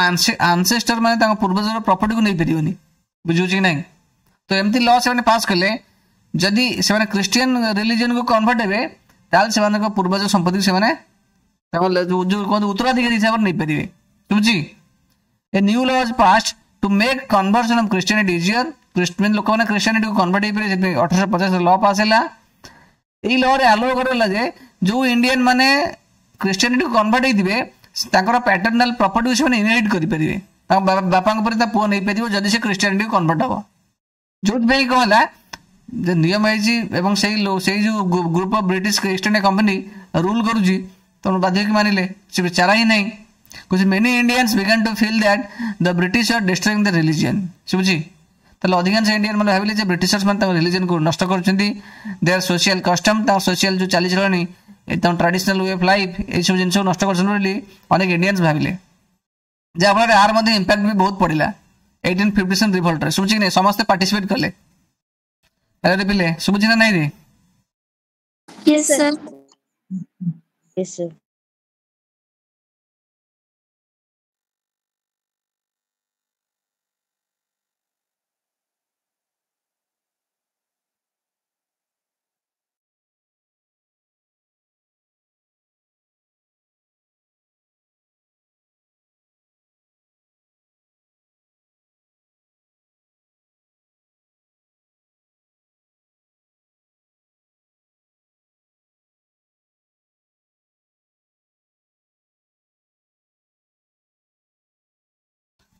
ଆନସେଷ୍ଟର ମାନେ ତାଙ୍କ ପୂର୍ବଜର ପ୍ରପର୍ଟିକୁ ନେଇପାରିବନି। ବୁଝୁଛି କି ନାହିଁ? ତ ଏମିତି ଲ ସେମାନେ ପାସ୍ କଲେ, ଯଦି ସେମାନେ ଖ୍ରୀଷ୍ଟିଆନ ରିଲିଜିଅନକୁ କନଭର୍ଟ ହେବେ, ତାହେଲେ ସେମାନଙ୍କ ପୂର୍ବଜ ସମ୍ପତ୍ତିକୁ ସେମାନେ ତାଙ୍କ ଯୋଉ କୁହନ୍ତି ଉତ୍ତରାଧିକାରୀ ହିସାବରେ ନେଇପାରିବେ। ବୁଝୁଛି? A new law was passed to make conversion of Christianity easier. ଲୋକମାନେ ଖ୍ରୀଷ୍ଟିଆନିଟିକୁ କନଭର୍ଟ ହେଇପାରିବେ, ସେଥିପାଇଁ 1850 ଲ ପାସ୍ ହେଲା। ଏଇ ଲରେ ଆଲୋ କରାଗଲା ଯେ ଯୋଉ ଇଣ୍ଡିଆନ ମାନେ ଖ୍ରୀଷ୍ଟିଆନିଟିକୁ କନଭର୍ଟ ହେଇଥିବେ, ତାଙ୍କର ପ୍ୟାଟର୍ନାଲ ପ୍ରପର୍ଟିକୁ ସେମାନେ ଇନହେରିଟ୍ କରିପାରିବେ। ତାଙ୍କ ବାପାଙ୍କ ପରେ ତା ପୁଅ ନେଇପାରିବ, ଯଦି ସେ ଖ୍ରୀଷ୍ଟିଆନିଟିକୁ କନଭର୍ଟ ହବ। ଯୋଉଥିପାଇଁ କ'ଣ ହେଲା ଯେ ନିୟମ ହେଇଛି ଏବଂ ସେଇ ଯୋଉ group of British East India Company rule କରୁଛି, ତେଣୁ ବାଧ୍ୟ ହେଇକି ମାନିଲେ, ସେ ଚାରା ହିଁ ନାହିଁ। କହୁଛି, many Indians began to feel that the British are destroying the religion. ଶୁଭୁଛି? ତାହେଲେ ଅଧିକାଂଶ ଇଣ୍ଡିଆନ୍ ମାନେ ଭାବିଲେ ଯେ ବ୍ରିଟିଶର୍ସ ମାନେ ତାଙ୍କ ରିଲିଜିଅନକୁ ନଷ୍ଟ କରୁଛନ୍ତି, there social custom, ତାଙ୍କ ସୋସିଆଲ ଯୋଉ ଚାଲିଚଳଣି, ତାଙ୍କ ଟ୍ରାଡିସନାଲ we of life, ଏଇସବୁ ଜିନିଷକୁ ନଷ୍ଟ କରୁଛନ୍ତି ବୋଲି ଅନେକ ଇଣ୍ଡିଆନ୍ସ ଭାବିଲେ। ଯାହାଫଳରେ ଆର ମଧ୍ୟ ଇମ୍ପାକ୍ଟ ବି ବହୁତ ପଡ଼ିଲା 1857 ରିଭଲ୍ଟରେ। ଶୁଭୁଛି କି ନାହିଁ? ସମସ୍ତେ ପାର୍ଟିସିପେଟ୍ କଲେ। ଆରେ ପିଲେ, ଶୁଭୁଛି ନା ନାଇଁ ରେ? Yes, sir. Yes, sir.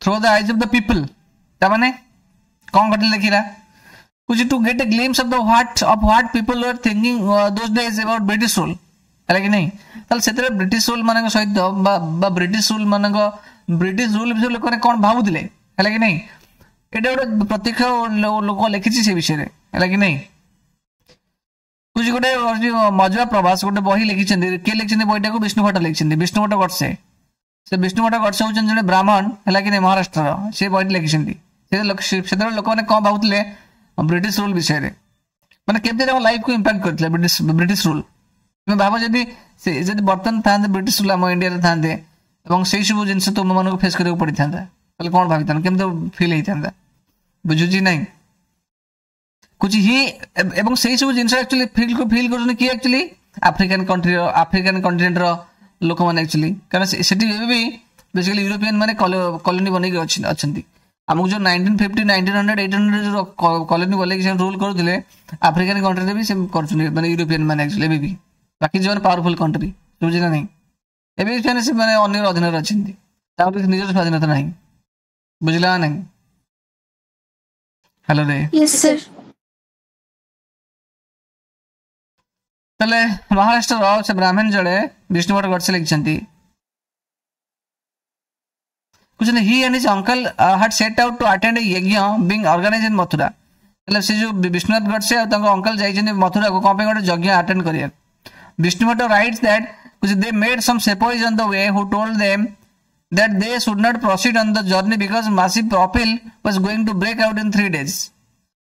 Through the eyes of the people. ତାମାନେ କ'ଣ ଘଟିଲା ଦେଖିଲା। କହୁଛି, to get a glimpse of what people were thinking those days about British rule. ହେଲା କି ନାହିଁ? ତାହେଲେ ସେତେବେଳେ ବ୍ରିଟିଶ ରୁଲ୍ ମାନଙ୍କ ସହିତ ବା ବ୍ରିଟିଶ ରୁଲ୍ ମାନଙ୍କ ବ୍ରିଟିଶ ରୁଲ୍ ବିଷୟରେ ଲୋକମାନେ କ'ଣ ଭାବୁଥିଲେ, ହେଲା କି ନାହିଁ? ଏଇଟା ଗୋଟେ ପ୍ରତ୍ୟକ୍ଷ ଲୋକ ଲେଖିଛି ସେ ବିଷୟରେ, ହେଲା କି ନାହିଁ? କହୁଛି, ଗୋଟେ ମଜୁଆ ପ୍ରବାସ ଗୋଟେ ବହି ଲେଖିଛନ୍ତି। କିଏ ଲେଖିଛନ୍ତି ବହିଟାକୁ? ବିଷ୍ଣୁ ଭଟ୍ଟ ଲେଖିଛନ୍ତି, ବିଷ୍ଣୁ ଭଟ୍ଟ ଗଡ଼ସେ। ସେ ବିଷ୍ଣୁ ଭଟ୍ଟ ଗଡ଼ସେ ହଉଛନ୍ତି ଜଣେ ବ୍ରାହ୍ମଣ, ହେଲା କି ନାହିଁ, ମହାରାଷ୍ଟ୍ରର। ସେ ବହିଟି ଲେଖିଛନ୍ତି। ସେତେବେଳେ ଲୋକମାନେ କ'ଣ ଭାବୁଥିଲେ ବ୍ରିଟିଶ ରୁଲ୍ ବିଷୟରେ, ମାନେ କେମିତି ତାଙ୍କ ଲାଇଫକୁ ଇମ୍ପାକ୍ଟ କରିଥିଲା ବ୍ରିଟିଶ ରୁଲ୍। ତୁମେ ଭାବ, ଯଦି ସେ ଯଦି ବର୍ତ୍ତମାନ ଥାନ୍ତେ, ବ୍ରିଟିଶ ରୁଲ୍ ଆମ ଇଣ୍ଡିଆରେ ଥାନ୍ତେ ଏବଂ ସେଇ ସବୁ ଜିନିଷ ତୁମମାନଙ୍କୁ ଫେସ୍ କରିବାକୁ ପଡ଼ିଥାନ୍ତା, ତାହେଲେ କ'ଣ ଭାବିଥାନ୍ତ, କେମିତି ଫିଲ୍ ହେଇଥାନ୍ତା? ବୁଝୁଛି ନାହିଁ? କହୁଛି ହି, ଏବଂ ସେଇ ସବୁ ଜିନିଷ ଆକ୍ଚୁଆଲି ଫିଲ୍ କରୁଛନ୍ତି କିଏ? ଆକ୍ଚୁଆଲି ଆଫ୍ରିକାନ କଣ୍ଟ୍ରିର, ଆଫ୍ରିକାନ କଣ୍ଟିନେଣ୍ଟର ଲୋକମାନେ ଆକ୍ଚୁଆଲି। କାରଣ ସେଠି ଏବେ ବି ବେସିକାଲି ୟୁରୋପିଆନ ମାନେ କଲୋନି ବନେଇକି ଅଛନ୍ତି। ଆମକୁ ଯୋଉ 1950, 1900, 800 ଯୋଉ କଲୋନି ବନେଇକି ସେମାନେ ରୁଲ୍ କରୁଥିଲେ, ଆଫ୍ରିକାନ କଣ୍ଟ୍ରିରେ ବି ସେ କରୁଛନ୍ତି, ମାନେ ୟୁରୋପିଆନ ମାନେ ଆକ୍ଚୁଆଲି ଏବେ ବି। ବାକି ଯେଉଁମାନେ ପାୱାରଫୁଲ କଣ୍ଟ୍ରି, ବୁଝିଲେ ନା ନାହିଁ, ଏବେ ବି ସେମାନେ ଅନ୍ୟର ଅଧୀନରେ ଅଛନ୍ତି, ତାଙ୍କର କିଛି ନିଜର ସ୍ୱାଧୀନତା ନାହିଁ। ବୁଝିଲା ନା ନାହିଁ? ହ୍ୟାଲୋ ରେ? Yes, sir. ତାହେଲେ ମହାରାଷ୍ଟ୍ରର ସେ ବ୍ରାହ୍ମଣ ଜଣେ ବିଷ୍ଣୁ ଭଟ୍ଟ ଗଡ଼ସେ ଲେଖିଛନ୍ତି। କହୁଛନ୍ତି, he and his uncle had set out to attend a yajna being organized in Mathura. ତାହେଲେ ସେ ଯୋଉ ବିଷ୍ଣୁନାଥ ଗଡ଼ସେ ଆଉ ତାଙ୍କ ଅଙ୍କଲ ଯାଇଛନ୍ତି ମଥୁରାକୁ, କ'ଣ ପାଇଁ? ଗୋଟେ ଯଜ୍ଞ ଆଟେଣ୍ଡ କରିବାକୁ। Vishnu Bhatta writes that they met some sepoys on the way who told them that they should not proceed on the journey because massive upheaval was going to break out in 3 days.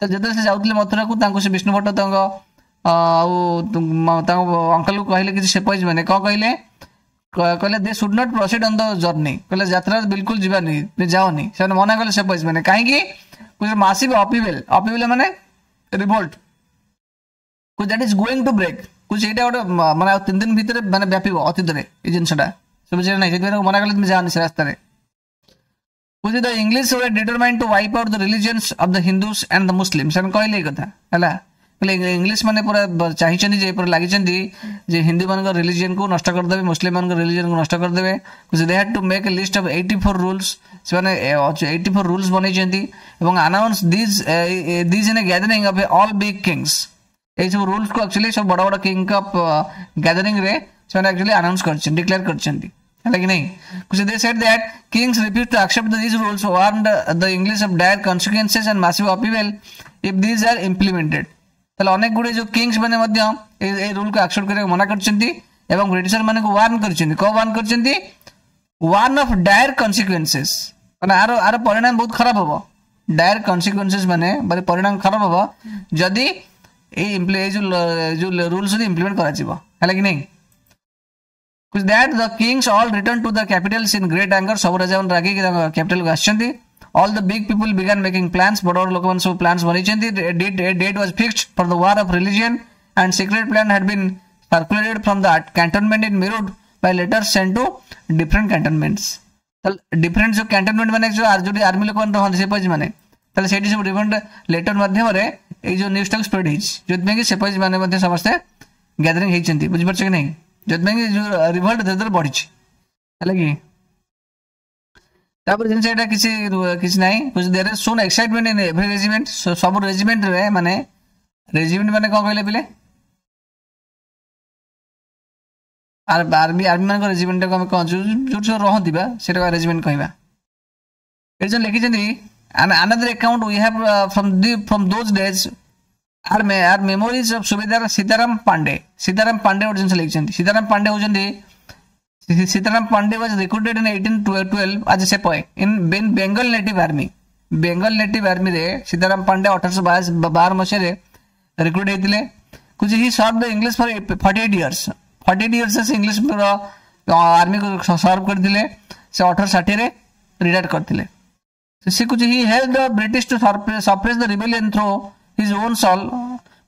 ତ ଯେତେବେଳେ ସେ ଯାଉଥିଲେ ମଥୁରାକୁ, ତାଙ୍କୁ ସେ ବିଷ୍ଣୁ ଭଟ୍ଟ ତାଙ୍କ ଆଉ ତାଙ୍କ ଅଙ୍କଲକୁ କହିଲେ, କିଛି ସେପଏଜ ମାନେ କ'ଣ କହିଲେ? କହିଲେ, they should not proceed on the journey. କହିଲେ, ଯାତ୍ରା ବିଲକୁଲ ଯିବାନି, ଯାଅନି। ସେମାନେ ମନା କଲେ ସେପଏଜ ମାନେ। କାହିଁକି? ମାସିଭ ଅପହିଭାଲ, ଅପହିଭାଲ ମାନେ revolt, that is going to break. କହୁଛି, ଏଇଟା ଗୋଟେ ମାନେ ଆଉ 3 ଦିନ ଭିତରେ ମାନେ ବ୍ୟାପିବ ଅତୀତରେ ଏଇ ଜିନିଷଟା। ବୁଝିଲେ ନାହିଁ? ସେଥିପାଇଁ ମନା କଲେ, ତୁମେ ଯାଅନି ସେ ରାସ୍ତାରେ। କହୁଛି, the English were determined to wipe out the religions of the Hindus and the Muslim. ସେମାନେ କହିଲେ ଏଇ କଥା, ହେଲା। କହିଲେ, ଇଂଲିଶ ମାନେ ପୁରା ଚାହିଁଛନ୍ତି ଯେ, ପୁରା ଲାଗିଛନ୍ତି ଯେ ହିନ୍ଦୁ ମାନଙ୍କ ରିଲିଜିୟନକୁ ନଷ୍ଟ କରିଦେବେ, ମୁସଲିମ ମାନଙ୍କ ରିଲିଜିୟନକୁ ନଷ୍ଟ କରିଦେବେ। They had to make a list of 84 rules. ସେମାନେ 84 ରୁଲ୍ସ ବନେଇଛନ୍ତି ଏବଂ announce these in a gathering of all big kings. ଏଇ ସବୁ ରୁଲ୍ସକୁ ଆକ୍ଚୁଆଲି ସବୁ ବଡ଼ ବଡ଼ କିଙ୍ଗଙ୍କ ଗ୍ୟାଦରିଂରେ ସେମାନେ ଆକ୍ଚୁଆଲି ଆନାଉନ୍ସ କରିଛନ୍ତି, ଡିକ୍ଲେୟାର କରିଛନ୍ତି, ହେଲା କି ନାହିଁ? They said that kings refused to accept these rules, warned the English of dire consequences and massive upheaval if these are implemented. ତାହେଲେ ଅନେକ ଗୁଡ଼ିଏ ଯୋଉ କିଙ୍ଗସ୍ ମାନେ ମଧ୍ୟ ଏଇ ରୁଲକୁ ଆକ୍ସେପ୍ଟ କରିବାକୁ ମନା କରିଛନ୍ତି ଏବଂ ବ୍ରିଟିଶର ମାନଙ୍କୁ ୱାର୍ନ କରିଛନ୍ତି। କଣ ୱାର୍ନ କରିଛନ୍ତି? ୱାର୍ନ ଅଫ୍ ଡାୟାର କନସିକ୍ୱେନ୍ସେସ୍, ମାନେ ଆର ପରିଣାମ ବହୁତ ଖରାପ ହବ। ଡାୟାର କନସିକ୍ୱେନ୍ସେସ୍ ମାନେ ପରିଣାମ ଖରାପ ହବ ଯଦି ଏଇ ଯୋଉ ରୁଲ୍ସ ଯଦି ଇମ୍ପ୍ଲିମେଣ୍ଟ କରାଯିବ। ହେଲା କି ନାହିଁ? That the kings all returned to the capitals in great anger. ସବୁ ରାଜାମାନେ ରାଗିକି ତାଙ୍କ କ୍ୟାପିଟାଲକୁ ଆସିଛନ୍ତି। All the big people began making plans. ବଡ଼ ବଡ଼ ଲୋକମାନେ ସବୁ plans ବନେଇଛନ୍ତି। A date was fixed for the war of religion and secret plan had been circulated from the cantonment in Meerut by letters sent to different cantonments. ତାହେଲେ different ଯୋଉ cantonment ମାନେ ଯୋଉଠି army ଲୋକମାନେ ରହନ୍ତି ସିପାହୀ ମାନେ, ତାହେଲେ ସେଇଠି ସବୁ ଡିଫରେଣ୍ଟ ଲେଟର ମାଧ୍ୟମରେ ଏଇ ଯୋଉ ନ୍ୟୁଜଟାକୁ ସ୍ପ୍ରେଡ୍ ହେଇଛି, ଯୋଉଥିପାଇଁ କି ସିପାହୀ ମାନେ ମଧ୍ୟ ସମସ୍ତେ ଗ୍ୟାଦରିଂ ହେଇଛନ୍ତି। ବୁଝିପାରୁଛ କି ନାହିଁ? ଯୋଉଥିପାଇଁ କି ଯୋଉ ରିଭଲ୍ଟ ଧୀରେ ଧୀରେ ବଢିଛି। ହେଲା କି? ତାପରେ ଜିନିଷ ଏଇଟା କିଛି କିଛି ନାହିଁ। There is soon excitement in every regiment. ସବୁ ରେଜିମେଣ୍ଟରେ, ମାନେ ରେଜିମେଣ୍ଟ ମାନେ କଣ କହିଲେ ପିଲେ? ଆର୍ମି ମାନଙ୍କ ରେଜିମେଣ୍ଟକୁ ଆମେ କଣ ଯୋଉଠି ସବୁ ରହନ୍ତି ବା ସେଇଟା ରେଜିମେଣ୍ଟ କହିବା। ଏଠି ଯୋଉ ଲେଖିଛନ୍ତି another account we have from those days are memories of Subedar Sitaram Pandey. Sitaram Pandey ଗୋଟେ ଜିନିଷ ଲେଖିଛନ୍ତି। ସୀତାରାମ ପାଣ୍ଡେ ହଉଛନ୍ତି, Sitaram Pandey was recruited in 1812 as a sepoy in Bengal Native Army. Bengal Native Army ରେ ସୀତାରାମ ପାଣ୍ଡେ 1812 ମସିହାରେ ରିକ୍ରୁଟ ହେଇଥିଲେ। କହୁଛି he served the English for 48 years. 48 years ସେ English ଆର୍ମିକୁ serve କରିଥିଲେ। ସେ 1860ରେ ରିଟାୟାର୍ଡ କରିଥିଲେ। ସେ କହୁଛି he helped the British to suppress the rebellion through his own soul.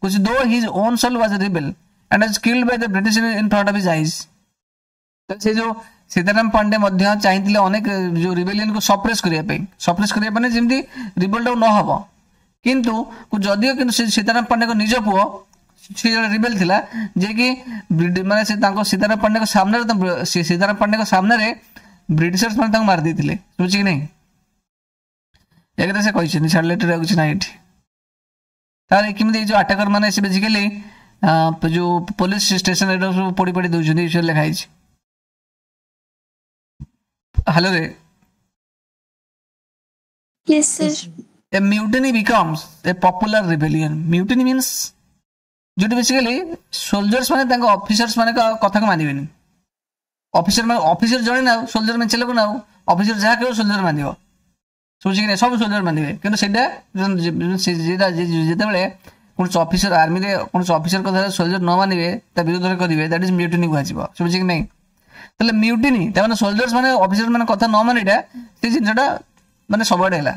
କହୁଛି though his own soul was a rebel and was killed by the British in front of his eyes. ସେ ଯୋଉ ସୀତାରାମ ପାଣ୍ଡେ ମଧ୍ୟ ଚାହିଁଥିଲେ ଅନେକ ଯୋଉ ରିବେଲିୟନକୁ ସପ୍ରେସ୍ କରିବା ପାଇଁ, ସପ୍ରେସ୍ କରିବା ପାଇଁ ଯେମିତି ରିବେଲଟାକୁ ନ ହବ, କିନ୍ତୁ ଯଦିଓ କିନ୍ତୁ ସେ ସୀତାରାମ ପାଣ୍ଡେଙ୍କ ନିଜ ପୁଅ ସେ ଜଣେ ରିବେଲ ଥିଲା, ଯିଏକି ମାନେ ସେ ତାଙ୍କ ସୀତାରାମ ପାଣ୍ଡେଙ୍କ ସାମ୍ନାରେ, ସୀତାରାମ ପାଣ୍ଡେଙ୍କ ସାମ୍ନାରେ ବ୍ରିଟିଶର୍ସ ମାନେ ତାଙ୍କୁ ମାରି ଦେଇଥିଲେ। ବୁଝୁଛି କି ନାହିଁ? ଏ କଥା ସେ କହିଛନ୍ତି, ଛାଡ଼ିଲେ ଏଠି କିଛି ନାହିଁ ଏଠି। ତାହେଲେ କେମିତି ଏଇ ଯୋଉ ଆଟାକର ମାନେ ସେ ବେସିକାଲି ଯୋଉ ପୋଲିସ ଷ୍ଟେସନ ଏଟା ସବୁ ପୋଡ଼ି ପୋଡ଼ି ଦଉଛନ୍ତି, ଏ ଲେଖା ହେଇଛି। ହ୍ୟାଲୋ ରେ? Yes, sir. A mutiny becomes a popular rebellion. Mutiny means ଯୋଉଠି ବେସିକାଲି ସୋଲଜର୍ସ ମାନେ ତାଙ୍କ ଅଫିସର୍ସ ମାନଙ୍କ କଥାକୁ ମାନିବେନି। ଅଫିସର ମାନେ ଅଫିସର ଜଣେ ନା ସୋଲଜର ମେଞ୍ଚେ ଲୋକ ନା, ଅଫିସର ଯାହା କହିବ ସୋଲଜର ମାନିବ। ଶୁଭୁଛି କି ନାହିଁ? ସବୁ ସୋଲଜର ମାନିବେ। କିନ୍ତୁ ସେଇଟା ଯେତେବେଳେ କୌଣସି ଅଫିସର ଆର୍ମିରେ କୌଣସି ଅଫିସର କଥା ସୋଲଜର ନ ମାନିବେ, ତା ବିରୁଦ୍ଧରେ କରିବେ, that is mutiny କୁହାଯିବ। ଶୁଭୁଛି କି ନାହିଁ? ତାହେଲେ ମ୍ୟୁଟିନି ତାମାନେ ସୋଲଜର୍ସ ମାନେ ଅଫିସର ମାନେ କଥା ନ ମାନିଟା ସେ ଜିନିଷଟା ମାନେ ସବୁଆଡେ ହେଲା।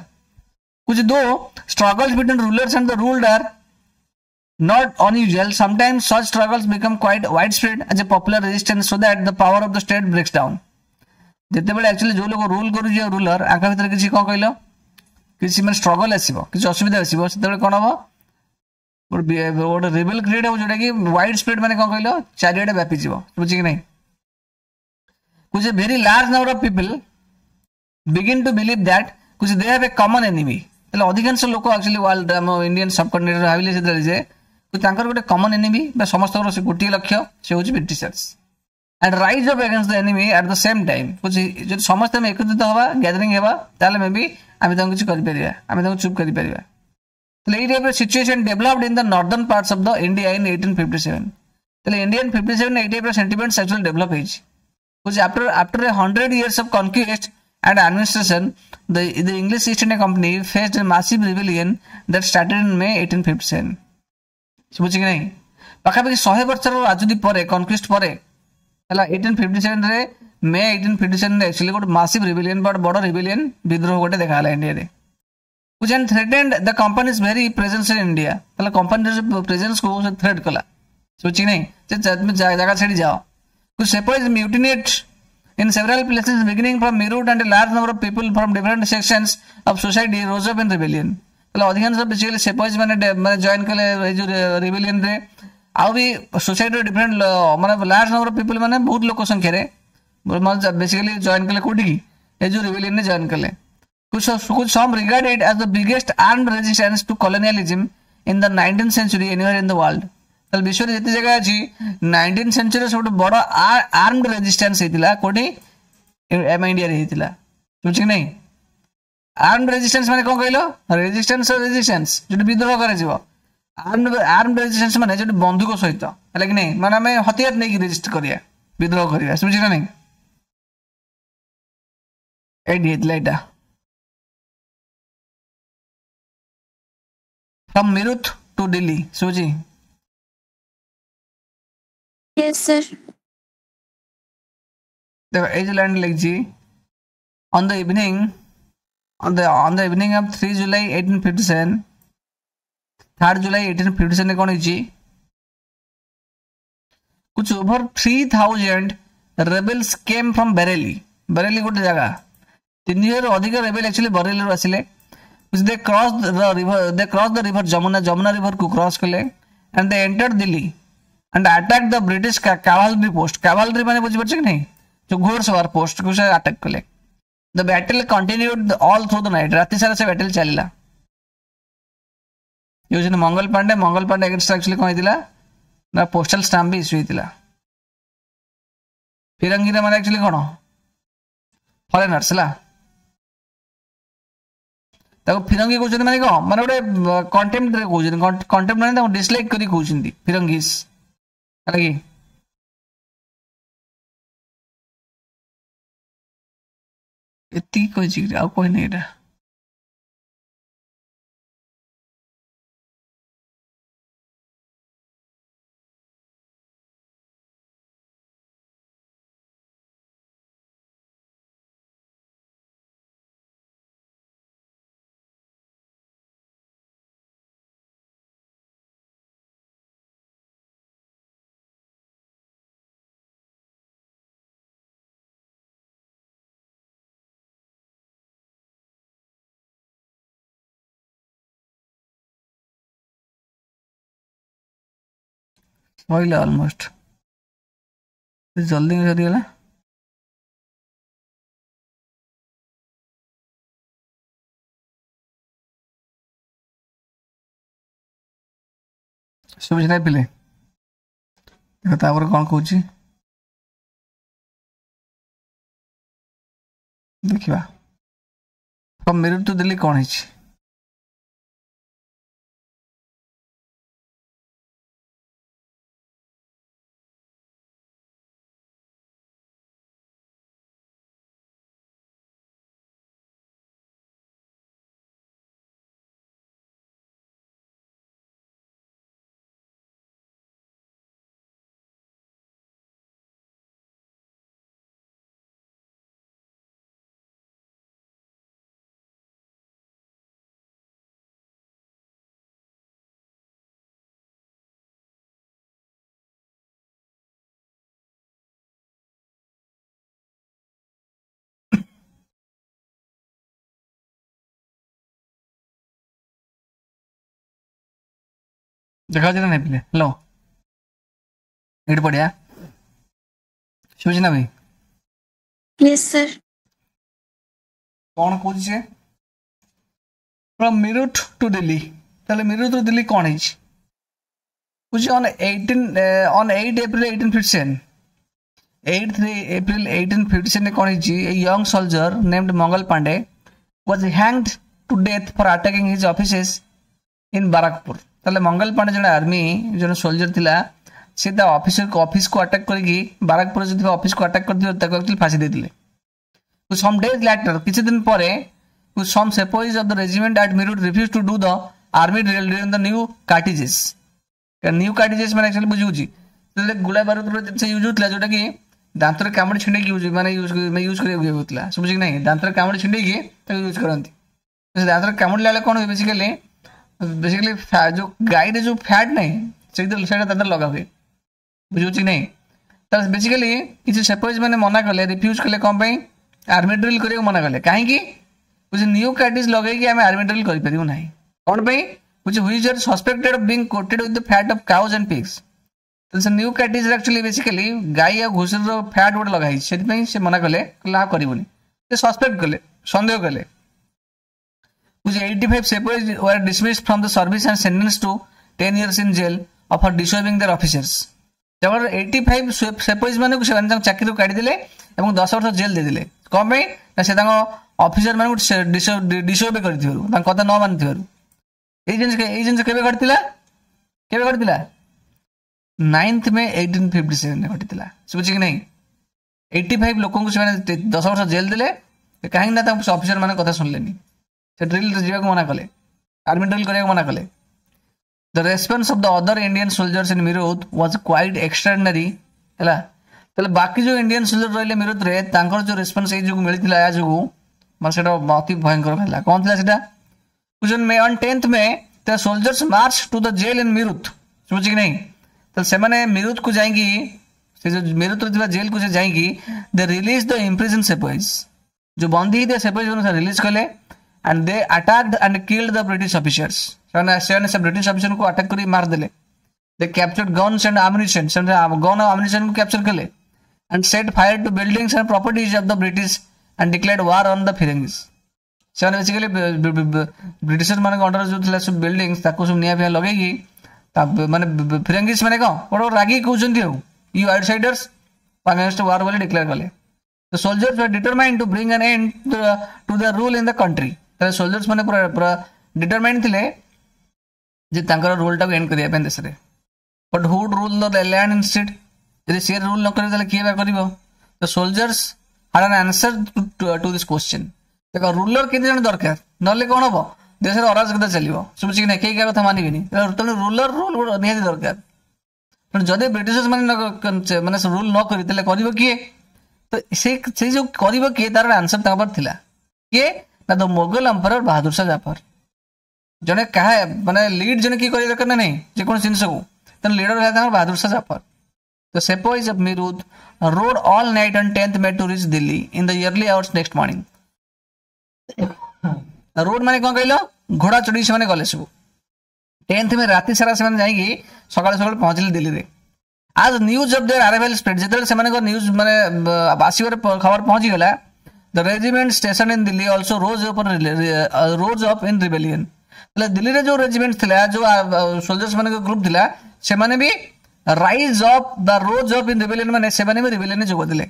କହୁଛି though struggles between rulers and the ruled are not unusual, sometimes such struggles become quite widespread as a popular resistance so that the power of the state breaks down. ଯେତେବେଳେ ଆକ୍ଚୁଆଲି ଯୋଉ ଲୋକ ରୁଲ କରୁଛି ଆଉ ruler ଆଙ୍କ ଭିତରେ କିଛି କଣ କହିଲ କିଛି ମାନେ ଷ୍ଟ୍ରଗଲ ଆସିବ, କିଛି ଅସୁବିଧା ଆସିବ, ସେତେବେଳେ କଣ ହବ ଗୋଟେ ରିବେଲ କ୍ରିଏଟ ହବ ଯୋଉଟା କି ୱାଇଡ ସ୍ପ୍ରେଡ ମାନେ କଣ କହିଲ ଚାରିଆଡେ ବ୍ୟାପିଯିବ। ବୁଝି କି ନାହିଁ? କହୁଛି very large number of people begin to believe that କହୁଛି they have a common enemy. ତାହେଲେ ଅଧିକାଂଶ ଲୋକ ଆକ୍ଚୁଆଲି ୱାର୍ଲଡ ଆମ ଇଣ୍ଡିଆନ ସବକଣ୍ଟିନେଣ୍ଟ ଭାବିଲେ ସେତେବେଳେ ଯେ ତାଙ୍କର ଗୋଟେ କମନ ଏନିମି ବା ସମସ୍ତଙ୍କର ସେ ଗୋଟିଏ ଲକ୍ଷ୍ୟ, ସେ ହେଉଛି Britishers. And rise up against the enemy at the same time. କହୁଛି ଯଦି ସମସ୍ତେ ଆମେ ଏକତ୍ରିତ ହେବା, ଗ୍ୟାଦରିଂ ହେବା, ତାହେଲେ ମେ ବି ଆମେ ତାଙ୍କୁ କିଛି କରିପାରିବା, ଆମେ ତାଙ୍କୁ ଚୁପ୍ କରିପାରିବା। ତାହେଲେ ଏଇ ଟାଇପ୍ର situation developed in the northern parts of the India in 1857। ତାହେଲେ ଇଣ୍ଡିଆନ୍ 57 ଏଇ ଟାଇପ୍ର ସେଣ୍ଟିମେଣ୍ଟସ୍ ଆକ୍ଚୁଆଲି ଡେଭଲପ୍ ହେଇଛି। କହୁଛି after 100 years of conquest and administration, the English East India Company faced a massive rebellion that started in May 1857. ଶୁଭୁଛି କି ନାହିଁ? ପାଖାପାଖି 100 ବର୍ଷର ରାଜୁତି ପରେ, କନକ୍ୱିଷ୍ଟ ପରେ ହେଲା 1857ରେ, ମେ 1857ରେ ଆକ୍ଚୁଆଲି ଗୋଟେ ମାସିଭ ରିବେଲିୟନ ବା ବଡ଼ ରିବେଲିୟନ ବିଦ୍ରୋହ ଗୋଟେ ଦେଖାଗଲା ଇଣ୍ଡିଆରେ, which and threatened the company's very presence in India. ତାହେଲେ କମ୍ପାନୀର ପ୍ରେଜେନ୍ସକୁ ସେ ଥ୍ରେଟ୍ କଲା। ଶୁଭୁଛି କି ନାହିଁ? ଯେ ଜାଗା ଛାଡ଼ି ଯାଅ। Sepoys mutinied in several places beginning from Meerut and a large number of people from different sections of society rose up in rebellion. ତାହେଲେ ଅଧିକାଂଶ ବେସିକାଲି ସେପଏଜ ମାନେ ମାନେ ଜଏନ୍ କଲେ ଏଇ ଯୋଉ ରିବେଲିୟନରେ। ଆଉ ବି ସୋସାଇଟିର ଡିଫରେଣ୍ଟ ମାନେ ଲାର୍ଜ ନମ୍ବର ଅଫ ପିପୁଲ ମାନେ ବହୁତ ଲୋକ ସଂଖ୍ୟାରେ ବେସିକାଲି ଜଏନ୍ କଲେ କୋଉଠିକି, ଏ ଯୋଉ ରିବେଲିୟନରେ ଜଏନ୍ କଲେ। Some regard it as the biggest armed resistance to colonialism in the 19th century anywhere in the world. ତାହେଲେ ବିଶ୍ୱରେ ଯେତେ ଜାଗା ଅଛି 19th ସେଞ୍ଚୁରୀରେ ସବୁଠୁ ବଡ଼ ଆର୍ମଡ ରେଜିଷ୍ଟାନ୍ସ ହେଇଥିଲା କୋଉଠି, ଆମ ଇଣ୍ଡିଆରେ ହେଇଥିଲା। ବୁଝୁଛି କି ନାହିଁ? ଆର୍ମଡ ରେଜିଷ୍ଟାନ୍ସ ମାନେ କ'ଣ କହିଲ? ରେଜିଷ୍ଟାନ୍ସ ରେଜିଷ୍ଟାନ୍ସ ଯୋଉଠି ବିଦ୍ରୋହ କରାଯିବ। ଆର୍ମଡ ରେଜିଷ୍ଟାନ୍ସ ମାନେ ଯୋଉଠି ବନ୍ଧୁକ ସହିତ, ହେଲା କି ନାହିଁ? ମାନେ ଆମେ ହତିଆର ନେଇକି ରେଜିଷ୍ଟ କରିବା, ବିଦ୍ରୋହ କରିବା। ବୁଝୁଛି ନା ନାହିଁ? ଏଇଠି ହେଇଥିଲା ଏଇଟା, ଫ୍ରମ୍ ମିରୁଥ ଟୁ ଦିଲ୍ଲୀ। ଶୁଭୁଛି? Yes, sir. ଦେଖ, ଏଇ ଯୋଉ ଲାଇନ୍ ଲେଖିଛି, on the evening of 3 July 1857, 3rd July 1857 କ'ଣ ହେଇଛି? कुछ over 3000 rebels came from Bareilly. Bareilly ଗୋଟେ ଜାଗା। 3000 ଅଧିକ ରେବେଲ ଆକ୍ଚୁଆଲି ବରେଲିରୁ ଆସିଲେ। They cross the river, they cross the river Jamuna, Jamuna ରିଭରକୁ cross କଲେ and they entered Delhi and attack the British cavalry post. Cavalry ମାନେ ବୁଝିପାରୁଛ କି ନାହିଁ? ଯୋଉ ଘୋଡ଼ସବାର ପୋଷ୍ଟକୁ ସେ ଆଟାକ୍ କଲେ। The battle continued all through the night. ରାତି ସାରା ସେ ବ୍ୟାଟେଲ ଚାଲିଲା। ଇଏ ହେଉଛନ୍ତି ମଙ୍ଗଲ ପାଣ୍ଡେ। ମଙ୍ଗଲ ପାଣ୍ଡେ ଏଗେନଷ୍ଟ ଆକ୍ଚୁଆଲି କ'ଣ ହେଇଥିଲା ନା ପୋଷ୍ଟାଲ ଷ୍ଟାମ୍ପ ବି ଇସ୍ୟୁ ହେଇଥିଲା। ଫିରଙ୍ଗିର ମାନେ ଆକ୍ଚୁଆଲି କ'ଣ? ଫରେନର୍ସ, ହେଲା? ତାକୁ ଫିରଙ୍ଗି କହୁଛନ୍ତି ମାନେ କ'ଣ? ମାନେ ଗୋଟେ କଣ୍ଟେମ୍ପ୍ଟରେ କହୁଛନ୍ତି। କଣ୍ଟେମ୍ପ୍ଟ ମାନେ ତାକୁ ଡିସଲାଇକ୍ କରି କହୁଛନ୍ତି ଫିରଙ୍ଗିସ୍, ହେଲା କି? ଏତିକି କହିଛି କି ଆଉ କହିନି ଏଇଟା? ସରିଲା ଅଲମୋଷ୍ଟ, ଜଲ୍ଦି ସରିଗଲା। ଶୁଭୁଛି ନା ପିଲେ? ଦେଖ, ତାପରେ କ'ଣ କହୁଛି ଦେଖିବା। ଫ୍ରମ୍ ମିରୁଟ ଟୁ ଦିଲ୍ଲୀ କ'ଣ ହେଇଛି? ଦେଖାଯାଉଛି ନା ନାଇଁ ପିଲେ? ହ୍ୟାଲୋ, ଏଇଠି ପଢିଆ। ଶୁଭୁଛି ନା ଭାଇ? Yes, sir. କ'ଣ କହୁଛି ସେ? From Meerut to Delhi. ତାହେଲେ ମିରୁଟ ଟୁ ଦିଲ୍ଲୀ କ'ଣ ହେଇଛି କହୁଛି? On 8 April 1857, 8 April 1857 କ'ଣ ହେଇଛି? A young soldier named Mangal Pandey was hanged to death for attacking his officers in Barakpur. ତାହେଲେ ମଙ୍ଗଲ ପାଣ୍ଡେ ଜଣେ ଆର୍ମି, ଜଣେ ସୋଲଜର ଥିଲା। ସେ ତା ଅଫିସକୁ ଆଟାକ୍ କରିକି, ବାରାକପୁରରେ ଯୋଉ ଥିବା ଅଫିସକୁ ଆଟାକ୍ କରିଥିଲେ, ତାକୁ ଆକ୍ଚୁଆଲି ଫାଶୀ ଦେଇଥିଲେ। ସମ୍ ଡେଜ୍ ଲ୍ୟାଟର, କିଛି ଦିନ ପରେ, some sepoys of the regiment at Meerut refuse to do the army drill during the new cartridges. New cartridges ମାନେ ଆକ୍ଚୁଆଲି ବୁଝିହେଉଛି, ଯେତେବେଳେ ଗୁଳା ବାରୁଦର ଜିନିଷ ୟୁଜ୍ ହେଉଥିଲା, ଯୋଉଟାକି ଦାନ୍ତରେ କାମୁଡ଼ି ଛିଣ୍ଡେଇକି ୟୁଜ୍ ମାନେ ୟୁଜ୍ କରିବାକୁ ହେଉଥିଲା। ଶୁଭୁଛି କି ନାହିଁ? ଦାନ୍ତରେ କାମୁଡ଼ି ଛିଣ୍ଡେଇକି ତାକୁ ୟୁଜ୍ କରନ୍ତି। ସେ ଦାନ୍ତରେ କାମୁଡ଼ିଲା ବେଳେ କ'ଣ ହୁଏ? ବେସିକାଲି ଯୋଉ ଗାଈରେ ଯୋଉ ଫ୍ୟାଟ୍ ନାହିଁ, ସେଇଥିରେ ସେଇଟା ତା ଦେହରେ ଲଗା ହୁଏ। ବୁଝିହେଉଛି କି ନାହିଁ? ତାହେଲେ ବେସିକାଲି କିଛି ସେପୋଇଜ ମାନେ ମନା କଲେ, ରିଫ୍ୟୁଜ୍ କଲେ। କ'ଣ ପାଇଁ? ଆର୍ମି ଡ୍ରିଲ୍ କରିବାକୁ ମନା କଲେ। କାହିଁକି? ବୁଝି, ନ୍ୟୁ କାର୍ଟିଜ୍ ଲଗେଇକି ଆମେ ଆର୍ମି ଡ୍ରିଲ୍ କରିପାରିବୁ ନାହିଁ। କ'ଣ ପାଇଁ? ବୁଝି, which are suspected of being coated with the fat of cows and pigs. ତ ସେ ନ୍ୟୁ କାର୍ଟିଜ୍ ଆକ୍ଚୁଆଲି ବେସିକାଲି ଗାଈ ଆଉ ଘୁଷୁରୀର ଫ୍ୟାଟ୍ ଗୋଟେ ଲଗା ହେଇଛି। ସେଥିପାଇଁ ସେ ମନା କଲେ, କହିଲେ ଆଉ କରିବୁନି। ସେ ସସ୍ପେକ୍ଟ କଲେ, ସନ୍ଦେହ କଲେ। Which 85 sepoys were dismissed from the service and sentenced to 10 years in jail for disobeying their officers. କେବଳ 85 ସେପୋଇଜ ମାନଙ୍କୁ ସେମାନେ ତାଙ୍କ ଚାକିରିରୁ କାଢିଦେଲେ ଏବଂ 10 ବର୍ଷ ଜେଲ୍ ଦେଇଦେଲେ। କ'ଣ ପାଇଁ ନା ସେ ତାଙ୍କ ଅଫିସର ମାନଙ୍କୁ ଡିସୋବେ କରିଥିବାରୁ, ତାଙ୍କ କଥା ନ ମାନିଥିବାରୁ। ଏଇ ଜିନିଷ କେବେ ଘଟିଥିଲା? କେବେ ଘଟିଥିଲା? 9th May 1857ରେ ଘଟିଥିଲା। ଶୁଭୁଛି କି ନାହିଁ? 85 ଲୋକଙ୍କୁ ସେମାନେ 10 ବର୍ଷ ଜେଲ୍ ଦେଲେ। କାହିଁକି ନା ତାଙ୍କ ଅଫିସର ମାନଙ୍କ କଥା ଶୁଣିଲେନି, ସେ ଡ୍ରିଲ୍ ଯିବାକୁ ମନା କଲେ, ଆର୍ମି ଡ୍ରିଲ୍ କରିବାକୁ ମନା କଲେ। The response of the other Indian soldiers in Meerut was quite extraordinary. ହେଲା, ତାହେଲେ ବାକି ଯୋଉ ଇଣ୍ଡିଆନ୍ ସୋଲଜର ରହିଲେ ମିରୁତରେ, ତାଙ୍କର ଯୋଉ ରେସ୍ପନ୍ସ ଏଇ ଯୋଗୁଁ ମିଳିଥିଲା, ଏହା ଯୋଗୁଁ ମାନେ ସେଇଟା ଅତି ଭୟଙ୍କର ହେଲା। କ'ଣ ଥିଲା ସେଇଟା? May on 10th May, the soldiers march to the jail in Meerut. ଶୁଭୁଛି କି ନାହିଁ? ତାହେଲେ ସେମାନେ ମିରୁତକୁ ଯାଇକି, ସେ ଯୋଉ ମିରୁତରେ ଥିବା ଜେଲ୍କୁ ସେ ଯାଇକି, they release the imprisoned sepoys, ଯୋଉ ବନ୍ଦୀ ହେଇଥିବା ସେପଏଜ୍ ମାନଙ୍କୁ ରିଲିଜ କଲେ, and they attacked and killed the British officers. ସେମାନେ ସେ ବ୍ରିଟିଶ ଅଫିସରଙ୍କୁ ଆଟାକ୍ କରି ମାରିଦେଲେ। They captured guns and ammunition. ସେମାନେ ଗନ୍ ଆଉ ଆମ୍ୟୁନିସନକୁ କ୍ୟାପଚର କଲେ, and set fire to buildings and properties of the British and declared war on the Firangis. ସେମାନେ basically ବ୍ରିଟିଶର ମାନଙ୍କ ଅଣ୍ଡର ଯୋଉ ଥିଲା ସବୁ ବିଲ୍ଡିଂସ୍, ତାକୁ ସବୁ ନିଆଁ ଫିଆଁ ଲଗେଇକି ତା ମାନେ ଫିରଙ୍ଗିସ୍ ମାନେ କ'ଣ ଗୋଟେ ରାଗିକି କହୁଛନ୍ତି ଆଉ "You outsiders, against war" ବୋଲି ଡିକ୍ଲେୟାର କଲେ। The soldiers were determined to bring an end to the rule in the country. ତାହେଲେ soldiers ମାନେ ପୁରା ପୁରା determined ଥିଲେ ଯେ ତାଙ୍କର ରୁଲଟାକୁ ଏଣ୍ଡ କରିବା ପାଇଁ ଦେଶରେ। But who rule the land instead? ଯଦି ସିଏ ରୁଲ୍ ନ କରିବେ, ତାହେଲେ କିଏ ବା କରିବ? The soldiers had an answer to this question. ଦେଖ, ରୁଲର କେତେ ଜଣ ଦରକାର, ନହେଲେ କ'ଣ ହବ? ଦେଶରେ ଅରାଜକତା ଚାଲିବ। ଶୁଭୁଛି କି ନାହିଁ? କେହି କାହା କଥା ମାନିବେନି। ତେଣୁ ରୁଲର ରୁଲ ନିହାତି ଦରକାର। ତେଣୁ ଯଦି ବ୍ରିଟିଶର୍ସ ମାନେ ମାନେ ରୁଲ ନ କରି, ତାହେଲେ କରିବ କିଏ? ତ ସେଇ ଯୋଉ କରିବ କିଏ, ତାର ଆନ୍ସର ତାଙ୍କ ପାଖରେ ଥିଲା। କିଏ ନା ଦ ମୋଗଲ ଏମ୍ପରର ବାହାଦୁର ଶାହ ଜାଫର। ଜଣେ କାହା ମାନେ ଲିଡ୍ ଜଣେ କିଏ କରିବା ଦରକାର ନା ନାହିଁ ଯେକୌଣସି ଜିନିଷକୁ? ତେଣୁ ଲିଡର ହେଲା ତାଙ୍କର Bahadur Shah Zafar. The sepoys of Meerut rode all night on 10th May to reach Delhi in the early hours next morning. Road ମାନେ କ'ଣ କହିଲ? ଘୋଡ଼ା ଚଢ଼ିକି ସେମାନେ ଗଲେ ସବୁ। 10th May ରାତି ସାରା ସେମାନେ ଯାଇକି ସକାଳୁ ସକାଳୁ ପହଞ୍ଚିଲେ ଦିଲ୍ଲୀରେ। As news of their arrival spread, ଯେତେବେଳେ ସେମାନଙ୍କ ନ୍ୟୁଜ୍ ମାନେ ଆସିବାର ଖବର ପହଞ୍ଚିଗଲା, the regiment stationed in Delhi also rose up in rebellion. ତାହେଲେ ଦିଲ୍ଲୀରେ ଯୋଉ ରେଜିମେଣ୍ଟ ଥିଲା, ଯୋଉ ସୋଲଜର୍ସ ମାନଙ୍କ ଗ୍ରୁପ ଥିଲା, ସେମାନେ ବି rise up the rose up in rebellion, ମାନେ ସେମାନେ ବି ରିବେଲିୟନରେ ଯୋଗ ଦେଲେ।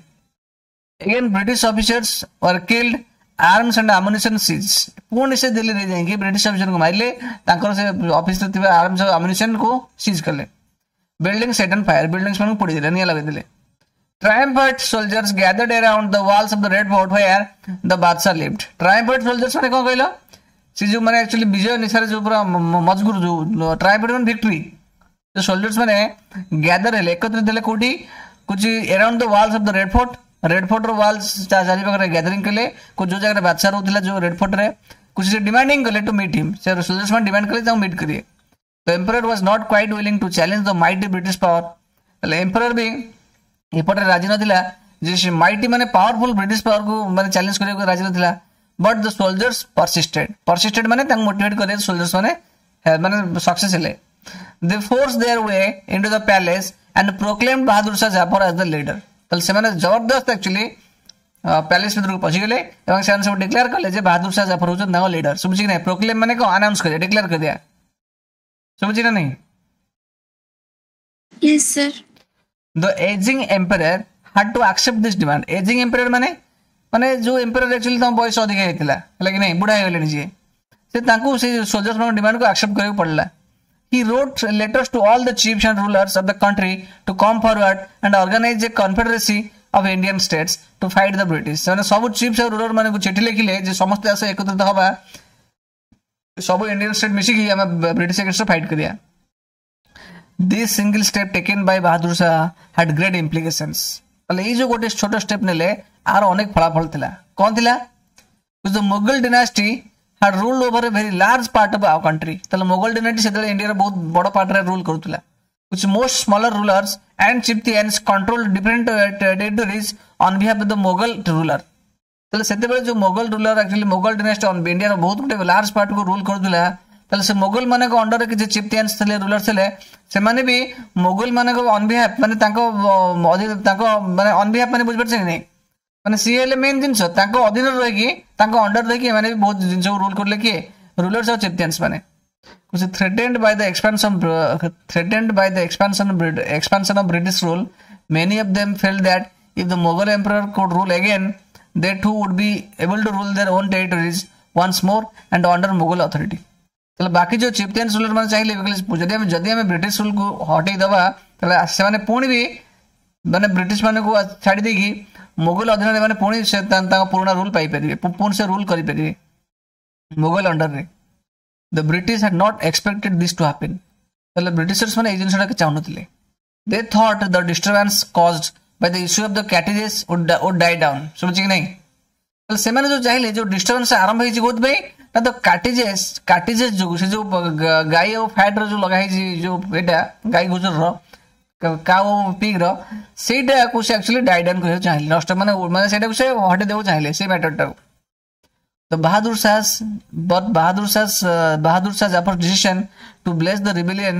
Again, British officers were killed, arms and ammunition seized. ପୁଣି ସେ ଦିଲ୍ଲୀରେ ଯାଇକି ବ୍ରିଟିଶ ଅଫିସରଙ୍କୁ ମାରିଲେ, ତାଙ୍କର ସେ ଅଫିସରେ ଥିବା ଆର୍ମସ ଆମ୍ୟୁନିସନକୁ ସିଜ୍ କଲେ। Building set on fire, buildings ମାନଙ୍କୁ ପୋଡ଼ିଦେଲେ, ନିଆଁ ଲଗେଇଦେଲେ। Triumphant soldiers gathered around the walls of the Red Fort where the Badshah lived. Triumphant soldiers ମାନେ କ'ଣ କହିଲ? ସେ ଯୋଉ ମାନେ ଆକ୍ଚୁଆଲି ବିଜୟ ନିଶାରେ ଯୋଉ ପୁରା ମଜଗୁର, ଯୋଉ ଟ୍ରାୟମ୍ଫାଣ୍ଟ ମାନେ ଭିକ୍ଟ୍ରି, ଯୋଉ ସୋଲଜର୍ସ ମାନେ ଗ୍ୟାଦର ହେଲେ, ଏକତ୍ରିତ ହେଲେ। କୋଉଠି କହୁଛି? Around the walls of the Red Fort. Red ଫୋର୍ଟର walls ଚାରିପାଖରେ ଗ୍ୟାଦରିଂ କଲେ, ଯୋଉ ଜାଗାରେ ବାଦଶାହ ରହୁଥିଲା, ଯୋଉ ରେଡ୍ ଫୋର୍ଟରେ। କିଛି ସେ ଡିମାଣ୍ଡିଂ କଲେ ଟୁ ମିଟ୍ ହିମ୍। ସେ ସୋଲଜର୍ସ ମାନେ ଡିମାଣ୍ଡ କଲେ ତାଙ୍କୁ ମିଟ୍ କରିବେ। The emperor was not quite willing to challenge the mighty British power. ତାହେଲେ ଏମ୍ପରର ବି ଏପଟେ ରାଜି ନଥିଲା ଯେ ସେ ମାଇଟି ମାନେ ପାୱାରଫୁଲ ବ୍ରିଟିଶ ପାୱାରକୁ ମାନେ ଚ୍ୟାଲେଞ୍ଜ କରିବାକୁ ରାଜି ନଥିଲା। But the soldiers persisted. Persisted ମାନେ ତାଙ୍କୁ ମୋଟିଭେଟ୍ କରିବା, ସୋଲଜର୍ସ ମାନେ ମାନେ ସକ୍ସେସ୍ ହେଲେ। They forced their way into the palace and proclaimed Bahadur Shah Zafar as the leader. ତାହେଲେ ସେମାନେ ଜବରଦସ୍ତ ଆକ୍ଚୁଆଲି ପ୍ୟାଲେସ୍ ଭିତରକୁ ପଶିଗଲେ ଏବଂ ସେମାନେ ସବୁ ଡିକ୍ଲେୟାର କଲେ ଯେ ବାହାଦୁର ଶାହ ଜାଫର ହେଉଛନ୍ତି ତାଙ୍କ ଲିଡର। ଶୁଭୁଛି କି ନାହିଁ? ପ୍ରୋକ୍ଲେମ୍ ମାନେ କଣ? ଆନାଉନ୍ସ କରିବା, ଡିକ୍ଲେୟାର କରିବା। ଶୁଭୁଛି ନା ନାହିଁ? Yes, sir. The aging emperor had to accept this demand. Aging emperor ମାନେ ମାନେ ଯୋଉ ଏମ୍ପରର ଆକ୍ଚୁଆଲି ତାଙ୍କ ବୟସ ଅଧିକା ହେଇଥିଲା, ହେଲା କି ନାହିଁ, ବୁଢା ହେଇଗଲେଣି ଯିଏ, ସେ ତାଙ୍କୁ ସେ ସୋଲଜର୍ସ ମାନଙ୍କ ଡିମାଣ୍ଡକୁ ଆକ୍ସେପ୍ଟ କରିବାକୁ ପଡିଲା। He wrote letters to all the chiefs and rulers of the country to come forward and organize a confederacy of Indian states to fight the British. ସେମାନେ ସବୁ ଚିଫ୍ସ ଆଉ ରୁଲର ମାନଙ୍କୁ ଚିଠି ଲେଖିଲେ ଯେ ସମସ୍ତେ ଆସ, ଏକତ୍ରିତ ହବା, ସବୁ ଇଣ୍ଡିଆନ ଷ୍ଟେଟ୍ ମିଶିକି ଆମେ ବ୍ରିଟିଶ ଏଗେନ୍ଷ୍ଟ ଫାଇଟ୍ କରିବା। This single step taken by Bahadur Shah had great implications. ତାହେଲେ ଏଇ ଯୋଉ ଗୋଟେ ଛୋଟ ଷ୍ଟେପ୍ ନେଲେ, ଆର ଅନେକ ଫଳାଫଳ ଥିଲା। କଣ ଥିଲା? The Mughal dynasty had ruled over a very large part of our country. ତାହେଲେ ମୋଗଲ ଡିନାଷ୍ଟି ସେତେବେଳେ ଇଣ୍ଡିଆର ବହୁତ ବଡ ପାର୍ଟରେ ରୁଲ୍ କରୁଥିଲା, which most smaller rulers and chieftains controlled different territories on behalf of the Mughal ruler. ତାହେଲେ ସେତେବେଳେ ଯୋଉ ମୋଗଲ ରୁଲର, ଆକ୍ଚୁଆଲି ମୋଗଲ ଡିନାଷ୍ଟି ଇଣ୍ଡିଆର ବହୁତ ଗୋଟେ ଲାର୍ଜ ପାର୍ଟକୁ ରୁଲ୍ କରୁଥିଲା। ତାହେଲେ ସେ ମୋଗଲ ମାନଙ୍କ ଅଣ୍ଡରରେ କିଛି ଚିଫ୍ଟିଆନ୍ସ ଥିଲେ, ରୁଲର ଥିଲେ, ସେମାନେ ବି ମୋଗଲ ମାନଙ୍କ ଅନ୍ ବିହାଫ ମାନେ ତାଙ୍କ ତାଙ୍କ ମାନେ ଅନ୍ ବିହାଫ ମାନେ ବୁଝିପାରୁଛନ୍ତି କି ନାଇଁ? ମାନେ ସିଏ ହେଲେ ମେନ୍ ଜିନିଷ, ତାଙ୍କ ଅଧୀନରେ ରହିକି, ତାଙ୍କ ଅଣ୍ଡର ରହିକି ଏମାନେ ବି ବହୁତ ଜିନିଷକୁ ରୁଲ୍ କରୁଥିଲେ। କିଏ? ରୁଲର୍ସ ଆଉ ଚିଫ୍ଟିଆନ୍ସ ମାନେ। Threatened by the expansion of British rule, many of them felt that If the Mughal emperor could rule again, they too would be able to rule their own territories once more and under Mughal authority. ତାହେଲେ ବାକି ଯେଉଁ ଚିଫ୍ଟେନ୍ସ ruler ମାନେ ଚାହିଁଲେ, ଯଦି ଆମେ British ରୁଲକୁ ହଟେଇ ଦେବା, ତାହେଲେ ସେମାନେ ପୁଣି ବି ମାନେ ବ୍ରିଟିଶ ମାନଙ୍କୁ ଛାଡ଼ି ଦେଇକି ମୋଗଲ ଅଧୀନରେ ମାନେ ପୁଣି ସେ ତାଙ୍କ ପୁରୁଣା ରୁଲ ପାଇପାରିବେ, ପୁଣି ସେ ରୁଲ କରିପାରିବେ ମୋଗଲ ଅଣ୍ଡରରେ। The British had not expected this to happen. ତାହେଲେ ବ୍ରିଟିଶର୍ସ ମାନେ ଏଇ ଜିନିଷଟା ଚାହୁଁନଥିଲେ। They thought the disturbance caused by the issue of the cartridges would die down. ଶୁଭୁଛି କି ନାହିଁ? ତାହେଲେ ସେମାନେ ଯୋଉ ଚାହିଁଲେ, ଯୋଉ ଡିଷ୍ଟର୍ବାନ୍ସ ଆରମ୍ଭ ହେଇଛି କୋଉଥିପାଇଁ ନା ତ କାର୍ଟ୍ରିଜେସ୍ ଯୋଗୁ, ସେ ଯୋଉ ଗାଈ ଆଉ ଫ୍ୟାଟ୍ର ଯୋଉ ଲଗା ହେଇଛି, ଯୋଉ ଏଇଟା ଗାଈ ଗୁଜରର, କାଉ ପିଗ୍ର, ସେଇଟାକୁ ସେ ଆକ୍ଚୁଆଲି ଡାଇ ଡାଉନ୍ କରିବାକୁ ଚାହିଁଲେ, ନଷ୍ଟ ମାନେ ମାନେ ସେଇଟାକୁ ସେ ହଟେଇ ଦେବାକୁ ଚାହିଁଲେ ସେଇ ମ୍ୟାଟରଟାକୁ। The Bahadur Shah's but Bahadur Shah's Bahadur Shah Jafar's decision to bless the rebellion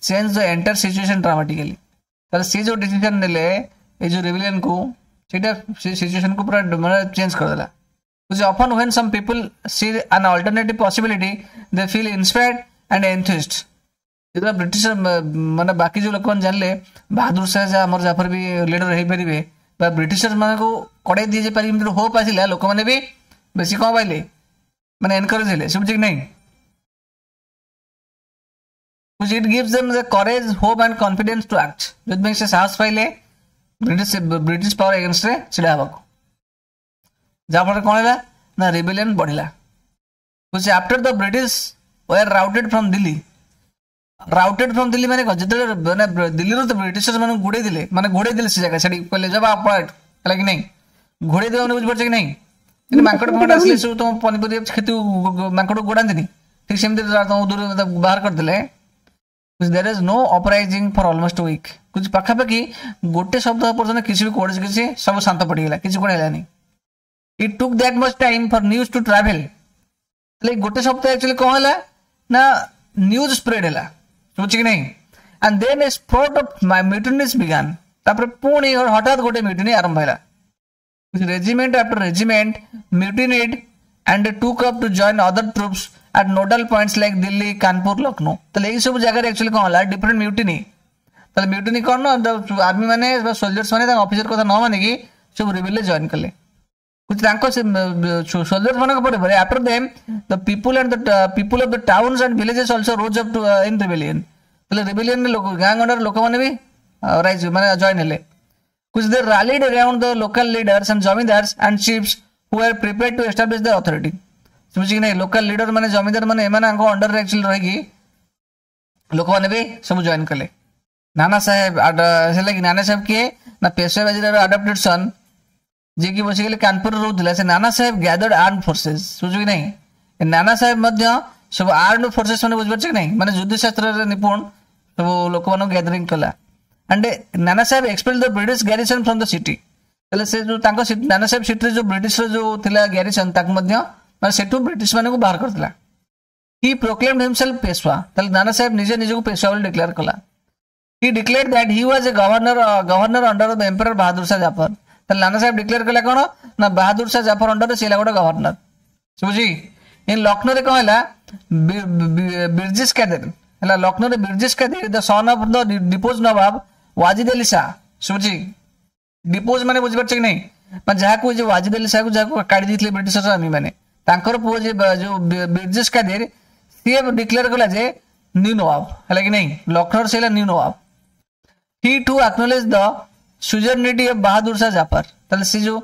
changed the entire situation dramatically. ତାହେଲେ ସେ ଯୋଉ ଡିସିଜନ ନେଲେ ଏଇ ଯୋଉ ରିବେଲିୟନକୁ, ସେଇଟା ସେ ସିଚୁଏସନକୁ ପୁରା ମାନେ ଚେଞ୍ଜ କରିଦେଲା। Which often when some people see an alternative possibility, they feel inspired and enthused. ଯେତେବେଳେ ବ୍ରିଟିଶ ମାନେ ବାକି ଯୋଉ ଲୋକମାନେ ଜାଣିଲେ ବାହାଦୁର ଶାହ ଆମର ଜାଫର ବି ଲିଡର ହେଇପାରିବେ ବା ବ୍ରିଟିଶର ମାନଙ୍କୁ କଡ଼େଇ ଦିଆଯାଇ ପାରିବେ, ଏମିତି ହୋପ୍ ଆସିଲା, ଲୋକମାନେ ବି ବେଶୀ କଣ ପାଇଲେ, ମାନେ ଏନକରେଜ ହେଲେ। ଶୁଭୁଛି କି ନାହିଁ? It gives them the courage, hope and confidence to act. ଯେଉଁଥିପାଇଁ ସେ ସାହସ ପାଇଲେ ବ୍ରିଟିଶ ପାୱାର ଏଗେନଷ୍ଟରେ ଛିଡ଼ା ହେବାକୁ, ଯାହାଫଳରେ କ'ଣ ହେଲା ନା ରିବେଲିୟନ ବଢିଲା। ବୁଝି, after the British were routed from Delhi. Routed from Delhi ମାନେ କଣ? ଯେତେବେଳେ ମାନେ ଦିଲ୍ଲୀରୁ ତ ବ୍ରିଟିଶର ମାନଙ୍କୁ ଘୋଡେଇ ଦେଲେ, ମାନେ ଘୋଡେଇ ଦେଲେ ସେ ଜାଗା, ସେଠି କହିଲେ ଯବା ପଳା, ହେଲା କି ନାହିଁ? ଘୋଡେଇ ଦେବା ମାନେ ବୁଝିପାରୁଛ କି ନାହିଁ? କିନ୍ତୁ ମାଙ୍କଡ ଫାଙ୍କଡ ଆସିଲେ ସବୁ ତମ ପନିପରିବା କ୍ଷତି, ମାଙ୍କଡ ଗୋଡାନ୍ତିନି, ଠିକ ସେମିତି ତମ ଦୂର ବାହାର କରିଦେଲେ। There is no uprising for almost week. କିଛି ପାଖାପାଖି ଗୋଟେ ସପ୍ତାହ ପର୍ଯ୍ୟନ୍ତ କିଛି ବି କୌଣସି କିଛି ସବୁ ଶାନ୍ତ ପଡ଼ିଗଲା, କିଛି କୁଆଡ଼େ ହେଲାନି। It took that much time for news to travel. ତାହେଲେ ଗୋଟେ ସପ୍ତାହ ଆକ୍ଚୁଆଲି କ'ଣ ହେଲା ନା ନ୍ୟୁଜ୍ ସ୍ପ୍ରେଡ୍ ହେଲା। ଶୁଭୁଛି କି ନାହିଁ? And then a spurt of mutinies began. ତାପରେ ପୁଣି ହଠାତ୍ ଗୋଟେ ମ୍ୟୁଟିନି ଆରମ୍ଭ ହେଲା। Regiment after regiment mutinied and took up to join other troops at nodal points like Delhi, Kanpur, Lucknow. ତାହେଲେ ଏଇ ସବୁ ଜାଗାରେ ଆକ୍ଚୁଆଲି କ'ଣ ହେଲା, ଡିଫରେଣ୍ଟ ମ୍ୟୁଟିନି। ତାହେଲେ ମ୍ୟୁଟିନି କ'ଣ ନା ଆର୍ମି ମାନେ ବା ସୋଲଜର୍ସ ମାନେ ତାଙ୍କ ଅଫିସର କଥା ନ ମାନିକି ସବୁ ରିବେଲରେ ଜଏନ୍ କଲେ। ତାଙ୍କ ସୋଲଜର୍ସ ମାନଙ୍କ ପରେ ପରେ, after them the people and the people of the towns and villages also rose up to in rebellion. ତାହେଲେ ରିବେଲିୟନରେ ଲୋକ, ଗାଁ ଗଣ୍ଡାର ଲୋକମାନେ ବି ରାଇଜ ମାନେ ଜଏନ୍ ହେଲେ। Which they rallied around the local leaders and zamindars and chiefs who were prepared to establish their authority. ଶୁଭୁଛି କି ନାହିଁ? Local leader ମାନେ, ଜମିଦାର ମାନେ, ଏମାନଙ୍କ ଅଣ୍ଡରରେ ଆକ୍ଚୁଆଲି ରହିକି ଲୋକମାନେ ବି ସବୁ ଜଏନ୍ କଲେ। ନାନା ସାହେବ ହେଲା କି, ନାନା ସାହେବ କିଏ ନା ପେଶୱା ବାଜିରାଓର ଆଡପ୍ଟେଡ୍ ସନ୍, ଯିଏକି ବସିଗଲେ କାନପୁରରେ ରହୁଥିଲା। ସେ ନାନା ସାହେବ ଗ୍ୟାଦର୍ଡ ଆର୍ମ ଫୋର୍ସେସ୍। ଶୁଭୁଛି କି ନାହିଁ? ନାନା ସାହେବ ମଧ୍ୟ ସବୁ ଆର୍ମ ଫୋର୍ସେସ୍ ମାନେ ବୁଝିପାରୁଛ କି ନାହିଁ? ମାନେ ଯୁଦ୍ଧ ଶାସ୍ତ୍ରରେ ନିପୁଣ ସବୁ ଲୋକମାନଙ୍କୁ ଗ୍ୟାଦରିଂ କଲା। And Nana Sahib expelled the British garrison from the city. ତାହେଲେ ସେ ଯୋଉ ତାଙ୍କ ନାନା ସାହେବ ସିଟିରେ ଯୋଉ ବ୍ରିଟିଶର ଯୋଉ ଥିଲା ଗ୍ୟାରିସନ୍, ତାକୁ ମଧ୍ୟ ମାନେ ସେଠୁ ବ୍ରିଟିଶ ମାନଙ୍କୁ ବାହାର କରିଥିଲା। He proclaimed himself Peshwa. ତାହେଲେ ନାନା ସାହେବ ନିଜେ ନିଜକୁ ପେଶୱା ବୋଲି ଡିକ୍ଲେୟାର କଲା। He declared that he was a governor under the emperor Bahadur Shah Zafar. ତାହେଲେ ନାନା ସାହେବ ଡିକ୍ଲେୟାର କଲା କ'ଣ ନା ବାହାଦୁର ଶାହ ଜାଫର ଅଣ୍ଡରରେ ସେ ହେଲା ଗୋଟେ ଗଭର୍ଣ୍ଣର। ଶୁଭୁଛି? ଇନ୍ ଲକ୍ଷ୍ନୌରେ କ'ଣ ହେଲା? ବିର୍ଜିସ୍ କାଦିର ହେଲା। ଲକ୍ଷ୍ନୌରେ ବିର୍ଜିସ୍ Kadir, the son of the deposed Nawab Wajid Ali Shah. ଶୁଭୁଛି? ଡିପୋଜ ମାନେ ବୁଝିପାରୁଛ କି ନାହିଁ? ମାନେ ଯାହାକୁ ଯୋଉ ୱାଜିଦ ଅଲି ଶାହକୁ ଯାହାକୁ କାଢି ଦେଇଥିଲେ ବ୍ରିଟିଶର ଆର୍ମି ମାନେ, ତାଙ୍କର ପୁଅ ଯେ ଯୋଉ ବିର୍ଜିସ୍ କାଦିର, ସିଏ ଡିକ୍ଲେୟାର କଲା ଯେ ନ୍ୟୁ ନୱାବ। ହେଲା କି ନାହିଁ? ଲକ୍ଷ୍ନୌର ସେ ହେଲା new Nawab. He too acknowledged the suzerainty of Bahadur Shah Zafar. ତାହେଲେ ସେ ଯୋଉ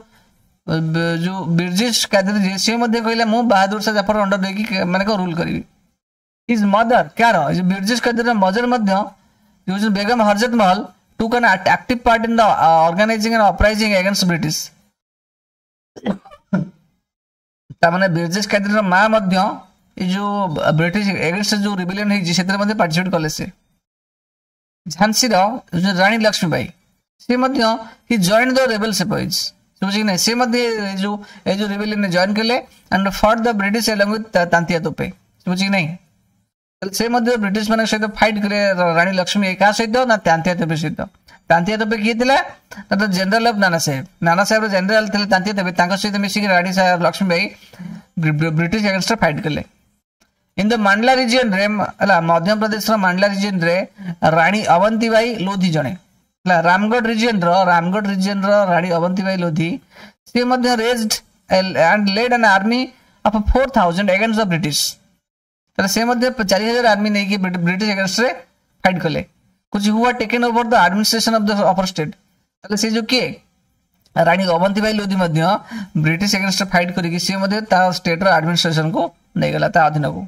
ଯୋଉ ବିର୍ଜିସ୍ କାଦିର ଯିଏ, ସିଏ ମଧ୍ୟ କହିଲା ମୁଁ ବାହାଦୁର ଶାହ ଜାଫର ଅଣ୍ଡର ଦେଇକି ମାନେ କଣ ରୁଲ କରିବି। His ମଦର, କାହାର, ବିର୍ଜିସ୍ କାଦିରର ମଦର ମଧ୍ୟ ଯୋଉ ବେଗମ ହରଜତ ମହଲ, took an active part in the organizing and uprising against British. ତାମାନେ ବିର୍ଜିସ୍ କାଦିରର ମା ମଧ୍ୟ ଏଇ ଯୋଉ ବ୍ରିଟିଶ ଏଗେନଷ୍ଟ ଯୋଉ ରିବେଲିୟନ ହେଇଛି, ସେଥିରେ ମଧ୍ୟ ପାର୍ଟିସିପେଟ କଲେ ସେ। ଝାନ୍ସୀର ଯୋଉ ରାଣୀ ଲକ୍ଷ୍ମୀବାଇ, ସେ ମଧ୍ୟ he joined the rebel sepoys. ଶୁଭୁଛି କି ନାହିଁ? ସେ ମଧ୍ୟ ଏଇ ଯୋଉ ରିବେଲିୟନରେ ଜଏନ୍ କଲେ and fought the British along with Tantia Tope. ଶୁଭୁଛି କି ନାହିଁ? ତାହେଲେ ସେ ମଧ୍ୟ ବ୍ରିଟିଶ ମାନଙ୍କ ସହିତ ଫାଇଟ୍ କଲେ ରାଣୀ ଲକ୍ଷ୍ମୀ। କାହା ସହିତ ନା ତାନ୍ତିଆ ତୋପେ ସହିତ। ତାନ୍ତିଆ ତୋପେ କିଏ ଥିଲା ନା ଜେନେରାଲ ଅଫ ନାନା ସାହେବ। ନାନା ସାହେବର ଜେନେରାଲ ଥିଲେ ତାନ୍ତିଆ ତୋପେ। ତାଙ୍କ ସହିତ ମିଶିକି ରାଣୀ ଲକ୍ଷ୍ମୀବାଇ ବ୍ରିଟିଶ ଏଗେନଷ୍ଟରେ ଫାଇଟ୍ କଲେ। ଇନ୍ the Mandla ରିଜିୟନରେ ହେଲା, ମଧ୍ୟପ୍ରଦେଶର ମାଣ୍ଡଲା ରିଜିୟନରେ ରାଣୀ ଅବନ୍ତୀବାଇ ଲୋଧି ଜଣେ ହେଲା ରାମଗଡ଼ ରିଜିୟନର, ରାମଗଡ଼ ରିଜିୟନର ରାଣୀ ଅବନ୍ତୀବାଇ ଲୋଧି ସିଏ ମଧ୍ୟ raised and led an army of 4000 against the British. ତାହେଲେ ସେ ମଧ୍ୟ 4000 ଆର୍ମି ନେଇକି ବ୍ରିଟିଶ ଏଗେନ୍ଷ୍ଟରେ ଫାଇଟ୍ କଲେ। କହୁଛି who are taken over the administration of the upper state. ତାହେଲେ ସେ ଯୋଉ କିଏ ରାଣୀ ଅବନ୍ତୀବାଇ ଲୋଧି ମଧ୍ୟ ବ୍ରିଟିଶ ଏଗେନ୍ଷ୍ଟରେ ଫାଇଟ୍ କରିକି ସିଏ ମଧ୍ୟ ତା ଷ୍ଟେଟ୍ର ଆଡମିନିଷ୍ଟ୍ରେସନକୁ ନେଇଗଲା ତା ଅଧୀନକୁ।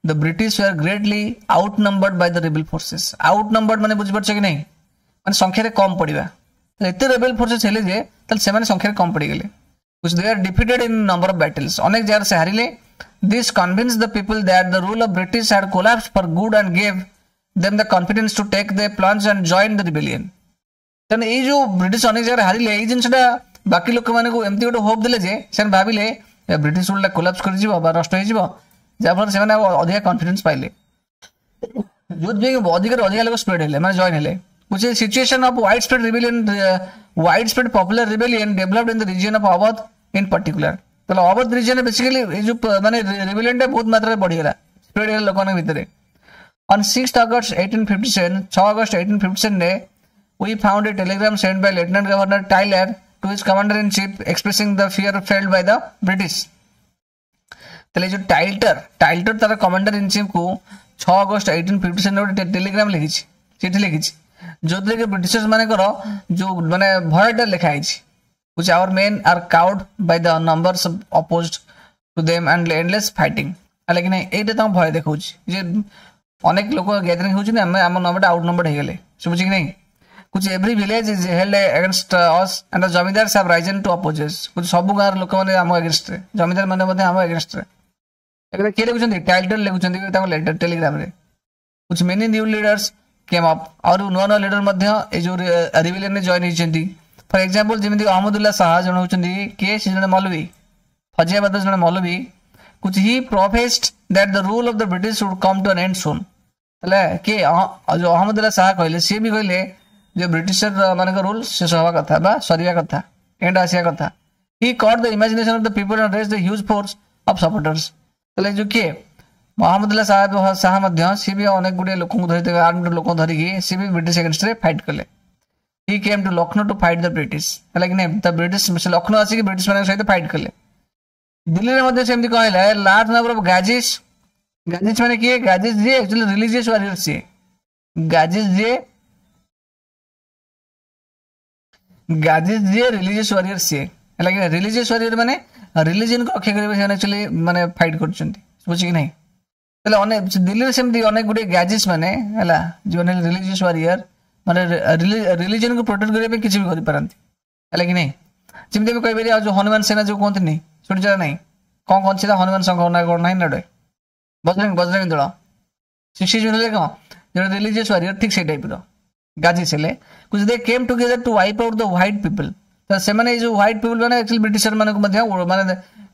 The British were greatly outnumbered by the rebel forces. Outnumbered ମାନେ ବୁଝିପାରୁଛ କି ନାହିଁ, ମାନେ ସଂଖ୍ୟାରେ କମ୍ ପଡ଼ିବା। ଏତେ ରେବେଲ ଫୋର୍ସେସ୍ ହେଲେ ଯେ ତାହେଲେ ସେମାନେ ସଂଖ୍ୟାରେ କମ୍ ପଡ଼ିଗଲେ। They are defeated in number of battles. ଅନେକ ଜାଗାରେ ସେ ହାରିଲେ। This convinced the people that the rule of British had collapsed for good and gave them the confidence to take the plunge and join the rebellion. ତେଣୁ ଏଇ ଯୋଉ British ଅନେକ ଜାଗାରେ ହାରିଲେ, ଏଇ ଜିନିଷଟା ବାକି ଲୋକମାନଙ୍କୁ ଏମିତି ଗୋଟେ ହୋପ୍ ଦେଲେ ଯେ ସେମାନେ ଭାବିଲେ ବ୍ରିଟିଶ ରୁଲଟା କୋଲାପ୍ସ କରିଯିବ ବା ନଷ୍ଟ ହେଇଯିବ, ଯାହାଫଳରେ ସେମାନେ ଆଉ ଅଧିକା କନଫିଡେନ୍ସ ପାଇଲେ, ଯୋଉଥିପାଇଁ ଅଧିକରୁ ଅଧିକା ଲୋକ ସ୍ପ୍ରେଡ୍ ହେଲେ, ମାନେ ଜଏନ୍ ହେଲେ। which is situation of widespread rebellion, widespread popular rebellion developed in the region of Awadh in particular. ତାହେଲେ ଅବଧ ରିଜିୟନ ବେସିକାଲି ଏଇ ଯୋଉ ମାନେ ରିବେଲିୟନଟା ବହୁତ ମାତ୍ରାରେ ବଢିଗଲା, ସ୍ପ୍ରେଡ୍ ହେଲା ଲୋକମାନଙ୍କ ଭିତରେ। On 6th August 1857, 6 August 1857 ରେ we found a telegram sent by Lieutenant Governor Tyler to his commander in chief expressing the fear felt by the British. ତାହେଲେ ଏଇ ଯୋଉ ଟାଇଲଟର, ଟାଇଲଟର ତାର କମାଣ୍ଡର ଇନ୍ ଚିଫ୍ କୁ 6 ଅଗଷ୍ଟ 1857 ଗୋଟେ ଟେଲିଗ୍ରାମ ଲେଖିଛି, ଚିଠି ଲେଖିଛି, ଯୋଉଥିରେ କି ବ୍ରିଟିଶର୍ସ ମାନଙ୍କର ଯୋଉ ମାନେ ଭୟଟା ଲେଖା ହେଇଛି। which our men are cowed by the numbers opposed to them and endless fighting. ହେଲା କି ନାହିଁ, ଏଇଟା ତାଙ୍କୁ ଭୟ ଦେଖାଉଛି ଯେ ଅନେକ ଲୋକ ଗ୍ୟାଦରିଂ ହେଉଛନ୍ତି, ଆମେ ଆମ ନମ୍ବରଟା ଆଉଟ୍ ନମ୍ବର ହେଇଗଲେ, ଶୁଭୁଛି କି ନାହିଁ। କହୁଛି every village is held against us and the zamindars have risen to oppose us. କହୁଛି ସବୁ ଗାଁର ଲୋକମାନେ ଆମ ଏଗେନ୍ଷ୍ଟରେ, ଜମିଦାର ମାନେ ମଧ୍ୟ ଆମ ଏଗେନ୍ଷ୍ଟରେ। ଏଗୁଡ଼ା କିଏ ଲେଖୁଛନ୍ତି, ଟାଇଟଲ ଲେଖୁଛନ୍ତି ତାଙ୍କ ଲେଟର ଟେଲିଗ୍ରାମରେ। କହୁଛି many new leaders came up, ଆହୁରି ନୂଆ ନୂଆ ଲିଡର ମଧ୍ୟ ଏଇ ଯୋଉ ରିବେଲିୟନରେ ଜଏନ୍ ହେଇଛନ୍ତି। ଫର ଏକ୍ସାମ୍ପଲ ଯେମିତି ଅହମ୍ମଦୁଲ୍ଲା ଶାହା ଜଣେ ହେଉଛନ୍ତି କିଏ, ସେ ଜଣେ ମୌଲବୀ, ଫଜିଆବାଦର ଜଣେ ମୌଲବୀ। କହୁଛି he professed that the rule of the British would come to an end soon. ତାହେଲେ କିଏ ଯୋଉ ଅହମ୍ମଦୁଲ୍ଲା ଶାହା କହିଲେ, ସିଏ ବି କହିଲେ ଯେ ବ୍ରିଟିଶର ମାନଙ୍କ ରୁଲ ଶେଷ ହେବା କଥା ବା ସରିବା କଥା, ଏଣ୍ଡ ଆସିବା କଥା। He caught the imagination of the people and raised the huge force of supporters. ତାହେଲେ ଯୋଉ କିଏ ମହମ୍ମଦୁଲ୍ଲା ଶାହା ମଧ୍ୟ ସିଏ ବି ଅନେକ ଗୁଡ଼ିଏ ଲୋକଙ୍କୁ ଧରି, ଆର୍ମଡ ଲୋକଙ୍କୁ ଧରିକି ସିଏ ବି ବ୍ରିଟିଶ ଏଗେନ୍ଷ୍ଟରେ ଫାଇଟ୍ କଲେ। He came to Lucknow to fight the British. ହେଲା କି ନାହିଁ, ଦ ବ୍ରିଟିଶ ସେ ଲକ୍ଷ୍ନୌ ଆସିକି ବ୍ରିଟିଶ ମାନଙ୍କ ସହିତ ଫାଇଟ୍ କଲେ। ଦିଲ୍ଲୀରେ ମଧ୍ୟ ସେମିତି କଣ ହେଲା, ଲାର୍ଜ ନମ୍ବର ଅଫ ଗାଜିସ୍, ଗାଜିସ୍ ମାନେ କିଏ, ଗାଜିସ୍ ଯିଏ ଆକ୍ଚୁଆଲି ରିଲିଜିୟସ୍ ୱାରିୟର, ସିଏ ଗାଜିସ୍ ଯିଏ, ଗାଜିସ୍ ଯିଏ ରିଲିଜିୟସ୍ ୱାରିୟର ସିଏ। ହେଲା କି ରିଲିଜିୟସ୍ ୱାରିୟର ମାନେ ରିଲିଜିୟନକୁ ରକ୍ଷା କରିବା ସେମାନେ ଆକ୍ଚୁଆଲି ମାନେ ଫାଇଟ୍ କରୁଛନ୍ତି, ବୁଝୁଛି କି ନାହିଁ। ତାହେଲେ ଅନେକ ଦିଲ୍ଲୀରେ ସେମିତି ଅନେକ ଗୁଡ଼ିଏ ଗାଜିସ୍ ମାନେ ହେଲା ଯେଉଁମାନେ ରିଲିଜିୟସ୍ ୱାରିୟର ମାନେ ରିଲିଜିୟନକୁ ପ୍ରୋଟେକ୍ଟ କରିବା ପାଇଁ କିଛି ବି କରିପାରନ୍ତି, ହେଲା କି ନାହିଁ। ଯେମିତି ଆମେ କହିପାରିବା ଆଉ ଯୋଉ ହନୁମାନ ସେନା ଯୋଉ କୁହନ୍ତିନି, ଶୁଣିଛ ନା ନାହିଁ, କଣ କହନ୍ତି ସେଟା, ହନୁମାନ ସଂଘ ନା କଣ ନାହିଁ ନା ଗୋଟେ ବଜରଙ୍ଗ, ବଜରଙ୍ଗ ଦଳ, ସେ ଯୋଉ ହେଲେ କଣ ଜଣେ ରିଲିଜିୟସ୍ ୱାରିୟର, ଠିକ ସେଇ ଟାଇପର ଗାଜିସ୍ ହେଲେ। They came together to wipe out the white people. ତ ସେମାନେ ଏଇ ଯୋଉ ହ୍ୱାଇଟ୍ ପିପୁଲ ମାନେ ଆକ୍ଚୁଆଲି ବ୍ରିଟିଶର ମାନଙ୍କୁ ମଧ୍ୟ ମାନେ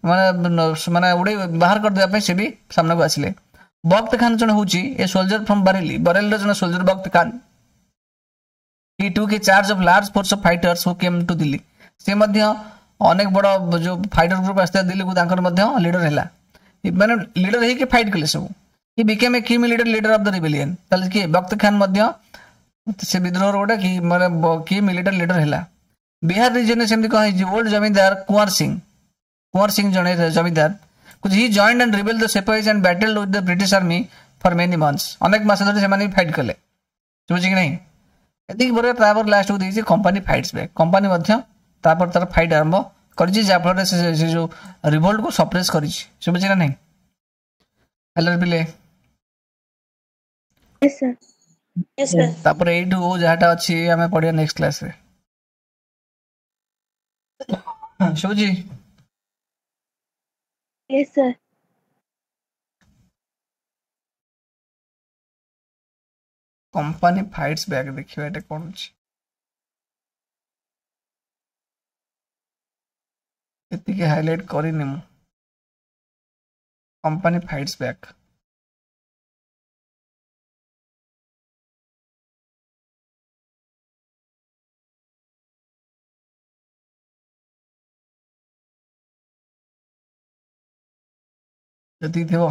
ମାନେ ମାନେ ଉଡ଼େଇ ବାହାର କରିଦେବା ପାଇଁ ସେ ବି ସାମ୍ନାକୁ ଆସିଲେ। ବକ୍ତ ଖାନ ଜଣେ ହଉଛି ଏ ସୋଲଜର ଫ୍ରମ୍ ବରେଲି, ବରେଲିର ଜଣେ soldier Bakht Khan. He took a charge of large force of fighters who came to Delhi. ସେ ମଧ୍ୟ ଅନେକ ବଡ଼ ଯୋଉ ଫାଇଟର ଗ୍ରୁପ ଆସିଥିଲା ଦିଲ୍ଲୀକୁ, ତାଙ୍କର ମଧ୍ୟ ଲିଡର ହେଲା, ମାନେ ଲିଡର ହେଇକି ଫାଇଟ୍ କଲେ ସବୁ। He became a key military leader of the rebellion. ତାହେଲେ କିଏ ବକ୍ତ ଖାନ ମଧ୍ୟ ସେ ବିଦ୍ରୋହର ଗୋଟେ କି ମାନେ କି ମିଲିଟାରୀ ଲିଡର ହେଲା। ବିହାର ରିଜିୟନରେ ସେମିତି କଣ ହେଇଛି, ଓଲ୍ଡ ଜମିଦାର କୁଆଁର ସିଂ, କୁଆଁର ସିଂ ଜଣେ ଜମିଦାର, he joined and rebelled the sepoys and battled with the British army for many months. ଅନେକ ମାସ ଧରି ସେମାନେ ବି ଫାଇଟ୍ କଲେ, ବୁଝୁଛି କି ନାହିଁ। ଏତିକି ପରେ ତାପରେ ଲାଷ୍ଟକୁ ଦେଇଛି କମ୍ପାନୀ ଫାଇଟ୍ସ ବ୍ୟାକ୍, କମ୍ପାନୀ ମଧ୍ୟ ତାପରେ ତାର ଫାଇଟ୍ ଆରମ୍ଭ କରିଛି, ଯାହାଫଳରେ ସେ ଯୋଉ ରିଭୋଲ୍ଟକୁ ସପ୍ରେସ୍ କରିଛି, ଶୁଭୁଛି ନା ନାହିଁ। ହେଲୋ ପିଲେ, ତାପରେ ଏଇଠୁ ଯାହାଟା ଅଛି ଆମେ ପଢିବା ନେକ୍ସଟ କ୍ଲାସରେ, ଶୁଭୁଛି? Yes sir. Company fights back ଦେଖିବା ଏଟା କଣ ଅଛି, ଏତିକି ହାଇଲାଇଟ୍ କରିନି ମୁଁ। କମ୍ପାନୀ ଫାଇଟ୍ସ ବ୍ୟାକ୍, ଯେତିକି ଥିବ